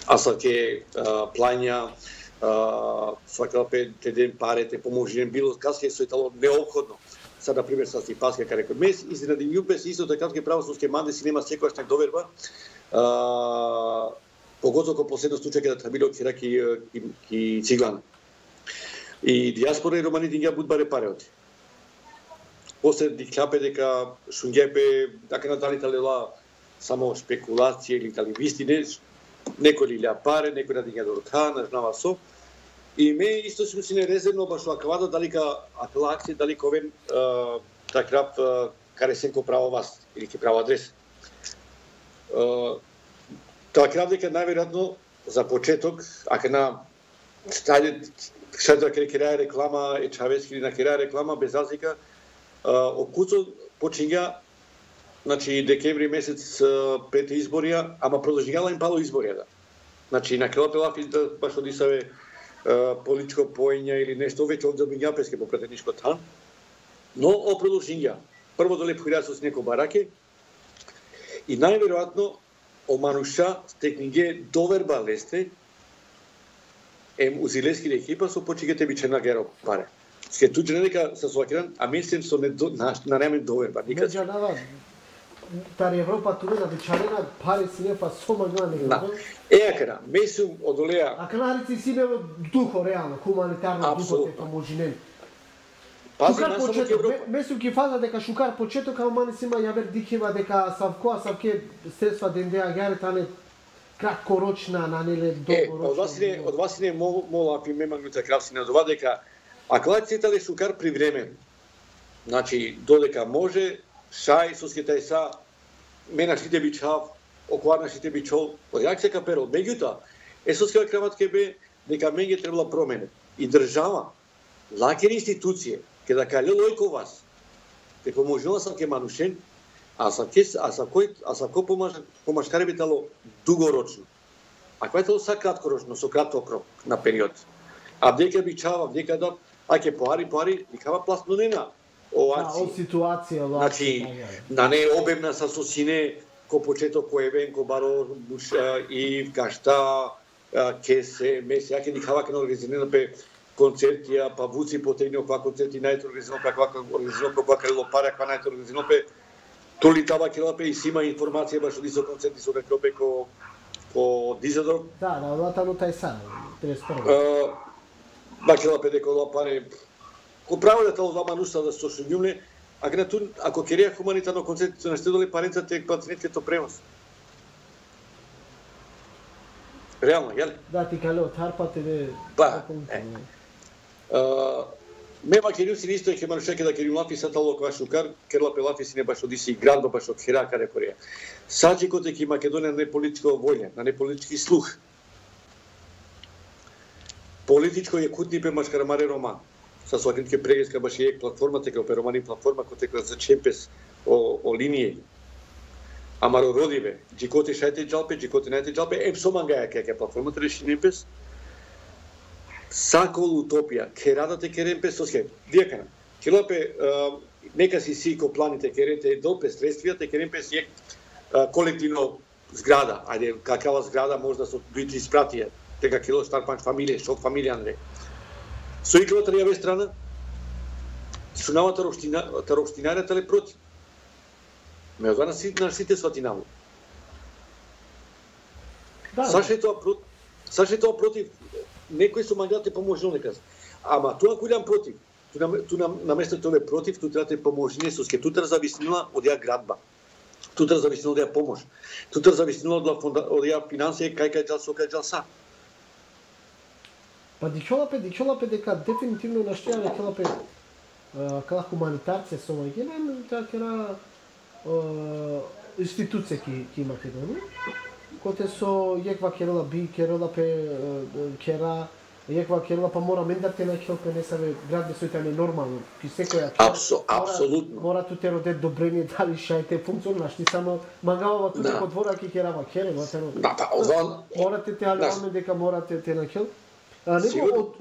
асап ке плања свакалпе те ден паре те поможине било касе со итало неопходно. Сега, например, са си паска каде кој мес, изненади јупес, исто така ке правосудске манде си нема секојаш так доверба, поготово кога последно случај каде табило кира ки, ки, ки Циглана. И диаспора и романите ги буд баре пареоти. После ди клапе дека шунгепе, така на дали талела само спекулација или дали вистине, некој ли ля паре, некој да дига до рука, не знава со. И ме исто сум си нерезервно баш аквадо дали ка акла акција дали ковен такрап каресенко право вас или ке право адрес. Тоа крав дека најверојатно за почеток, ака на стајде шајда ке креа реклама е Чавески или на креа реклама без разлика, окуцо почиња значи декември месец пред изборија, ама продолжила им пало изборија. Значи на крило пелафи да баш одисаве политичко поење или нешто веќе од Замињапеске по претеничко тан, но о продолжинја. Прво доле појдеа со неко бараке и најверојатно о мануша стекниге доверба лесте ем узилески екипа со почигете бичена геро паре. Ке туџе дека се соакиран, а мислим со не на, на немен доверба никад. Меѓанава Тари Европа туре на бичарена пари си не па сома гна не да. Е акара, месум одолеа. А канарици си не духо реално, хуманитарно духо те поможинен. Пази Шукар на само почеток, Европа. месум ки фаза дека шукар почеток, ама мани сима јавер дикева дека савко, савке средства дендеа гјаре тане краткорочна, на неле долгорочна. Е, од вас не, од вас не мол, мола пи ме магнута кравси на това дека аклацията ле шукар привремен. Значи додека може шај со скетај са менашите бичав, окварнашите бичол, од се каперо. Меѓутоа, есоска крават ке бе дека меѓе требала промене. И држава, лакери институcije, ке да кале лојко вас, те поможила сам ке манушен, а сам ке, а сам кој, а сам кој помаш, помашкаре би тало дугорочно. А кој тало са краткорочно, со краток рок на период. А дека бичава, дека да, а ке поари, поари, никава пласнонена. О акција. О ситуација, о значи, на не обемна са со сине, ко почеток, ко евен, ко баро, и кашта, кесе, меси, аке никава ке на организирано пе концертија, па вуци потребно која концерти најто организирано, па која организирано, која крило паре, која најто организирано пе толи таба келапе и сима информација баш од исто концерти со рекопе ко ко Дизадор. Да, да, одата но тај са, тридесет и прво. Ба келапе дека паре ко право да тоа мануса да со шуњумле, а грату ако керија хуманитарно концерт со наштедоле паренцата е пациенткето премос. Реално, јали? Да, ти кале од харпате бе. Па. Ме македонци исто е ке манушеке да керим лафи сатало кога шукар, керла пелафи си не баш одиси и градба баш од Хера каде Кореја. Саџи коте ки Македонија не политичко волја, на не политички слух. политичко е кутнипе машкарамаре роман. Са соакритке прегеска баш е платформата ке оперомани платформа кој текла за чемпес о, о линија. Амаро родиве, джикоти шајте джалпе, джикоти најте джалпе, ем сомангаја ке ке платформата реши немпес. Сакол утопија, ке радате ке ремпес со схем. Дијакана, ке лапе, нека си си ко планите ке рете долпе средствијата, ке ремпес е колективно зграда, ајде, какава зграда може да се бити испратија, дека кило стар панч фамилија, шок фамилија, не. Со иклата јаве страна, сунавата робштинарјата ле против. Меѓутоа на сите, на сите сватинало. Да, Саше тоа против, Саше тоа против, некој со мангате поможил нека. Ама тоа кој дам против, ту на место тоа е против, ту треба да поможи со ке тутар зависнила од ја градба. Тутар зависнила од ја помош. Тутар зависнила од фонда, од ја финансија кај кај џал со кај џал са. Па дичолапе, дичолапе дека дефинитивно наштеале келапе кала хуманитарција со маѓина, тоа кера институција ки ки Македонија, коте со јеква керела би керела пе кера јеква керела па мора мендате на келпе не сабе град со таме нормално. Ки секоја Апсо, апсолутно. Мора ту те роде добрение дали шајте функционираш, ти само мангава тука да. По двора ки керава кере, ватено. Да, па ован морате те алеме дека морате те на кел. А него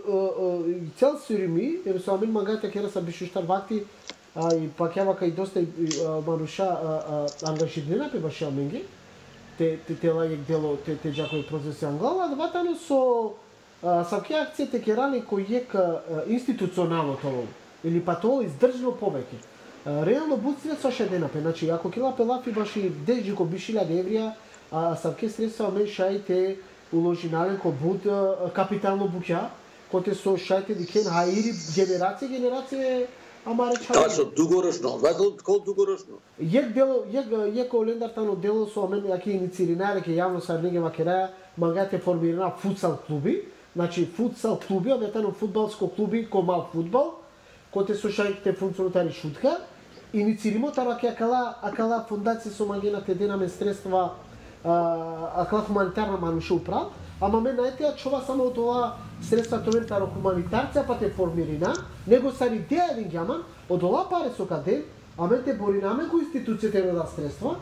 од цел сирими, ер со амин мангата кера са бишуштар вакти, а и пакјава кај доста маруша ангажирана пе баш аменги. Те те те лагек дело те те џакој процеси англава, да ватано со саке акцијите керани кој ек институционално тоа или па тоа издржано повеќе. Реално буција со шедена пе, значи ако кила пелафи баши десет ко бишилјади еврија, а саке средства мен шајте уложи нален ко буд капитално буќа, коте со шајте дикен хаири генерација генерација ама реча. Тоа со дугорочно, вател кол дугорочно. Јек дело, јек јек олендартано дело со амен јаки инициираре ке јавно са неге макераја магате формирана футсал клуби, значи футсал клуби, одетано фудбалско клуби ко мал фудбал, коте со шајте функционатари шутка, инициримо тараке акала акала фондација со магената денаме средства а кала хуманитарна мануша управ, ама мен најтеа чова само од ова средства тоа таро хуманитарција па те формирина, него са идеја еден ѓаман, од ова паре со каде, а мен те боринаме кој институција те рода средства,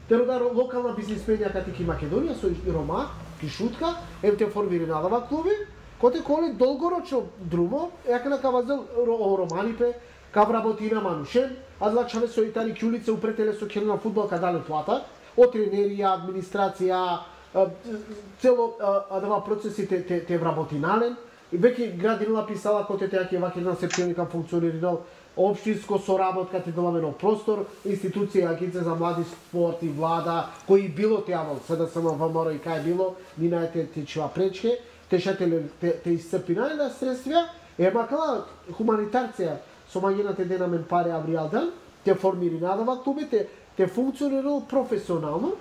те рода локална бизнисменија кати ки Македонија со Рома, ки шутка, ем те формирина ова клуби, коте коли долгорочно друмо, јака на кавазел романипе, кав работина манушен, а длачаве со итали кјулице упретеле со келна фудбал кадале плата, од тренерија, администрација, цело адава процесите те те вработинален. Веќе градинала писала коте те ќе ваќе на септември функционирал општинско соработка те доламено простор, институција агенција за млади спорт и влада, кои било теавал, сега само ВМРО и кај било, минајте те чува пречке, те шателе те, те исцрпинале на средства, е макала хуманитарција со мањената денамен паре авријалдан, те формиринадава клубите, те функционирал професионално.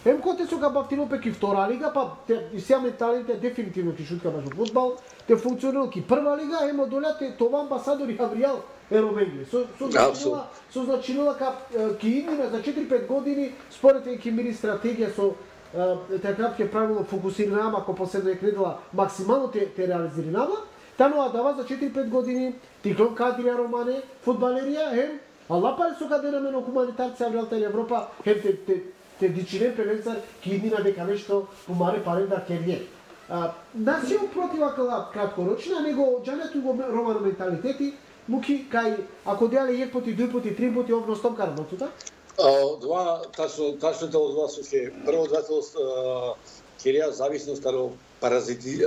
Ем коте со габавтино пе ки втора лига, па те сеа менталите дефинитивно ки шутка баш фудбал, те функционирал ки прва лига, емо долјате това амбасадори Авријал Ероменгли. Со со значило со значило ка ки иднина за четири-пет години според ки мири стратегија со така ќе правилно фокусирана, ако последно е кредила максимално те те реализирана, тано дава за четири-пет години Тиклон Кадрија Романе, фудбалерија, ем алла паре со каде на хуманитарција Авријалта Европа, ем те те те дичирен превенцар ки иднина дека нешто умаре паре да керје. Нас се протива кала краткорочна, него џањето го романо менталитети, муки кај ако деале ек поти, дуј поти, три поти овно стомка работута? Два тачно тачно од два се прво двето керија зависност од паразити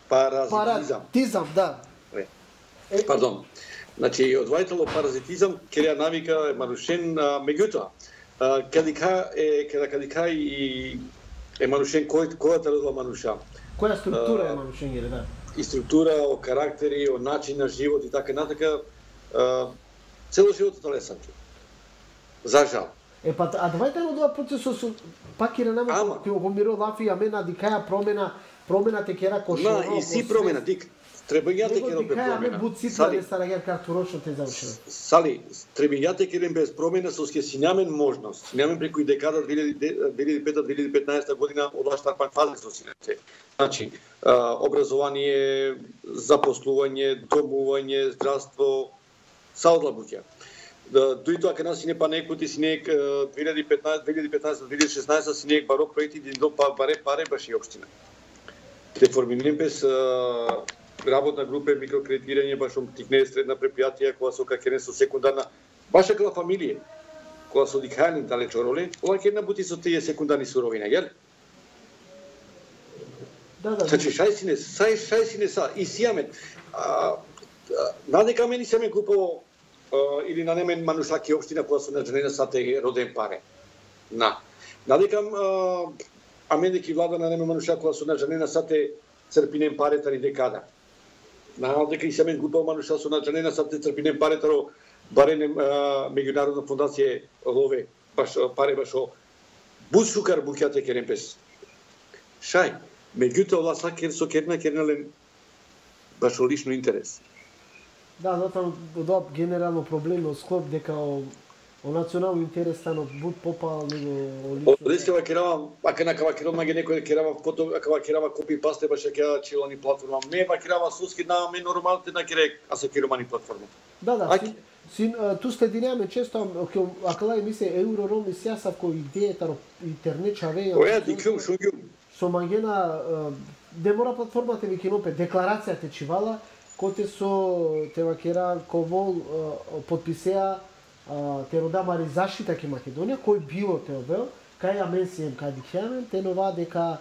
паразитизам. Паразитизам, да. Е, пардон. Значи од двајтело паразитизам керија навика е нарушен, меѓутоа кадика е када кадика и е манушен кој којата родила мануша. Која структура е манушен гере, да. И структура, о карактери, о начин на живот и така натака, цело животот е лесанче. За жал. Е па а двајте од ова процесот со пак и нама кој го миро лафи амена дикаја промена, промена те кера кошо. На и си промена дик. требањата ќе робе промена. Сали, те Сали, требањата ќе робе без промена со ке сињамен можност. Сињамен преку декада две илјади и пета - две илјади и петнаесета година од штарпан фаза со сињаце. Значи, образование, запослување, домување, здравство, са одлабуќа. Дури тоа кај нас си не па некои си не две илјади и петнаесета - две илјади и петнаесета - две илјади и шеснаесета си не баро проекти до па баре паре баш и општина. Реформиран без работна група микрокредитирање баш тикне средна предпријатија која со какене со секундарна баша кога фамилија која со дикајни далечо роле, ова ќе набути со тие секундарни суровина, јал? Да, да. Значи шај си не, сај шај си не са и сијаме. Надека мене се ме купо или на немен манушаки општина која со наџенена са те роден паре. На. Надека а мене ки влада на неме манушаки која со наџенена са те црпинен паретар и декада. Наравно дека и се мен купал мануша со наџенена са те црпинен паретаро барене меѓународна фондација лове баш паре башо бус шукар буќате керемпес. Шај, меѓутоа ова сакер со керна кернален башо лично интерес. Да, затоа до генерално проблем од склоп дека о, о национални интерес станот буд попал него лично. Одеска ва керава, ака на кава керама ге некој керава фото, ака ва керава копи пасте баша ќе чилани платформа. Ме ва керава суски на ме нормалните на керек, а се керомани платформа. Да, да. Син, син ту следиреме често акала емисија Еврором и сјасав кој идејата интернет чаве. Оја дикум шунгјум. Со магена де мора платформата ви кинопе декларација те чивала коте со тева кера ковол подписеа те родамари заштита ке Македонија кој било те обел кај аменсием кај дихјамен те нова дека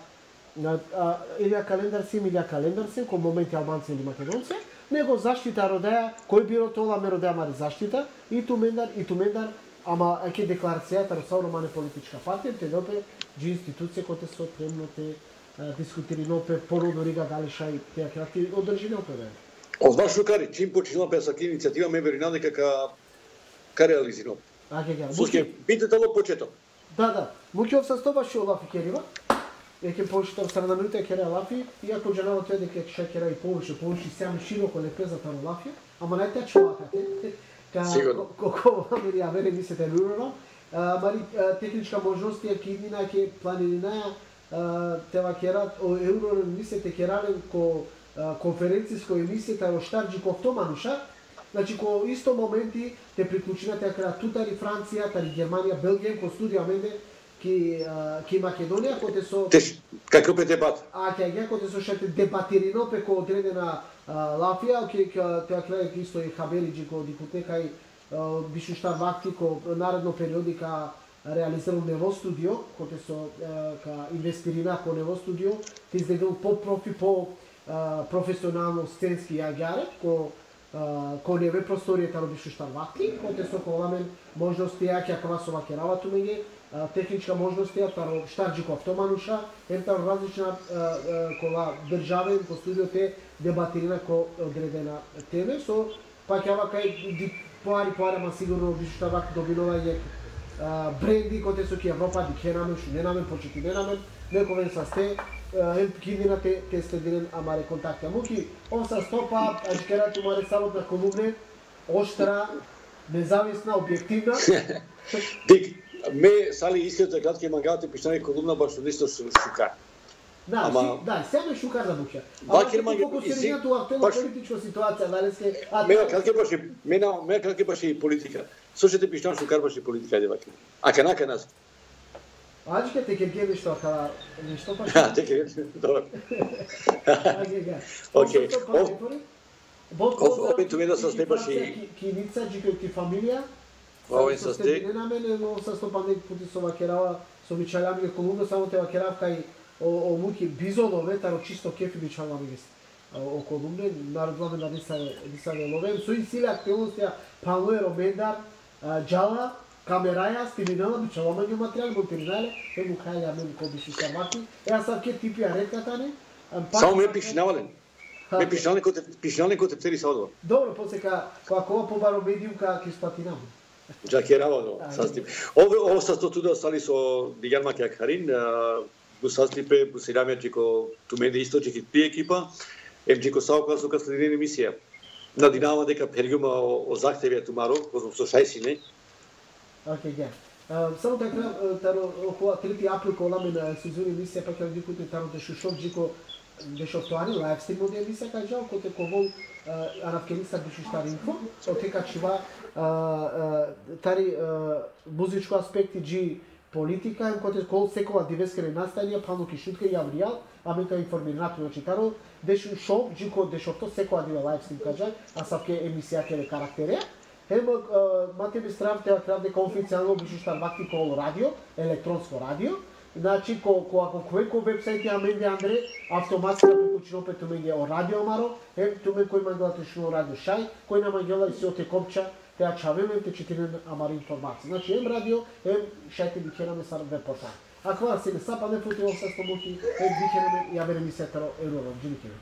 илја календар сим илја календар сим кој моменти албанци или македонци него заштита родеа кој било тоа ме родамари заштита и тумендар и тумендар ама еќе декларацијата росално мане политичка партија те допе джи институција коте со премно те дискутири нопе породно рига дали шај те крати одржи нопе. Од ваш шукари, чим починала песаки иницијатива ме верина дека ка ка реализирано. А ке га. Суске питате во почеток. Да, да. Муќе обсастоваш Олафи керива. Еќе повеќе страна минута кере Олафи, иако джанало тоа дека ќе кера и повеќе, повеќе сам широко лепезата на Олафи, ама најте чувакате. Ка коко вамери авере мислите лурно. Мари техничка можност ја киднина ќе планирина тева керат о евро мислите керален ко конференциско емисијата во Штарџиков Томануша, значи ко исто моменти те приклучината ја кра тутари Франција, тари Германија, Белгија, ко студија менде ки ки Македонија, коте со како пе дебат. А ќе ја коте со шете дебатирино пеко одредена Лафија, ке тоа кле исто и Хабериџи ко дикутека и бишу штар вакти ко наредно периодика реализирал нево студио, коте со ка инвестирина ко нево студио, те издегал по профи по професионално сценски јагјаре, ко ко неве просторијата робишу штар вакти, коте со коламен можности ја ќе квасова керава тумење, техничка можности ја таро Штарџиков Томануша, ентар различна кола државен по студиоте дебатирина ко одредена теме со пак јава кај поари поари ма сигурно бишу штар вакти добивање бренди коте со ки Европа ди кенамен шу ненамен почети ненамен нековен са сте ем кидина те те следирен амаре контакти муки он са стопа ажкерати маре само на колумне оштра независна објективна дик ме сали искрено кратки мангате пишане колумна баш нешто шука. Да, ама да, сега шукар да буќа. Бакер маги колку се регија тоа актуелна политичка ситуација, дали сте а ме кратки баш ме на ме кратки баш и политика. Слушате пишан шукар баш и политика ајде бакер. А канака нас. Ајде те ќе геме што кала нешто па. Да, те ќе добро. Океј. Опет туме да се степаш и киница џико ти фамилија. Овој со сте. Не на мене, но со стопан пути со вакерава, со вичалјами колумна само те вакерав кај о муки бизолове, таро чисто кефи вичалјами гес. О колумне народваме да не се не се ловен, со и силе активности Павле Ромендар, Џала, камераја, стиминала вичалјами материјал, монтирнале, е му каја мен ко би се ваки. Еа сам ке типи ареката не. Само ме пишнавален. Ме пишнале коте пишнале коте цели садо. Добро, посека кога побаро медиум ка ке спатинам. Джакераво, састип. Ово ово са туда стали со Дијан Макјакарин, бу састипе, бу седамјачи ко туменде источи ки пи екипа. Ем Джико Саока со следина емисија. На Динамо дека периума о захтевија тумаро, козом со шајсине. Океј, ге. Само така, таро около трети април кога на сезони емисија пак ја дикуте таро да шушов Джико беше оствари лайв стрим од емисија кажа, коте ковол аравкениста беше штари инфо, отека чива тари музичко аспекти джи политика, коте кол секола дивескене настања, пануки шутка и авријал, амека информирането на читаро, деше шоу, джико деше то секола дива лайв стрим кажа, а савке емисија ке карактерија. Хем мате би стравте крав дека официјално беше штар вакти кол радио, електронско радио. Значи, ко, ко ако кој ко вебсајт ја менде Андре, автоматски да прикучино пе туменге о радио маро, ем тумен кој мангела тешно радио шај, кој на мангела и си оте копча, те ја чавеме, те четирен амари информација. Значи, ем радио, ем шајте бихераме сар веб портал. Ако се не сапа не фути овса стомути, ем бихераме ја вере мисетаро ерором, джиникеме.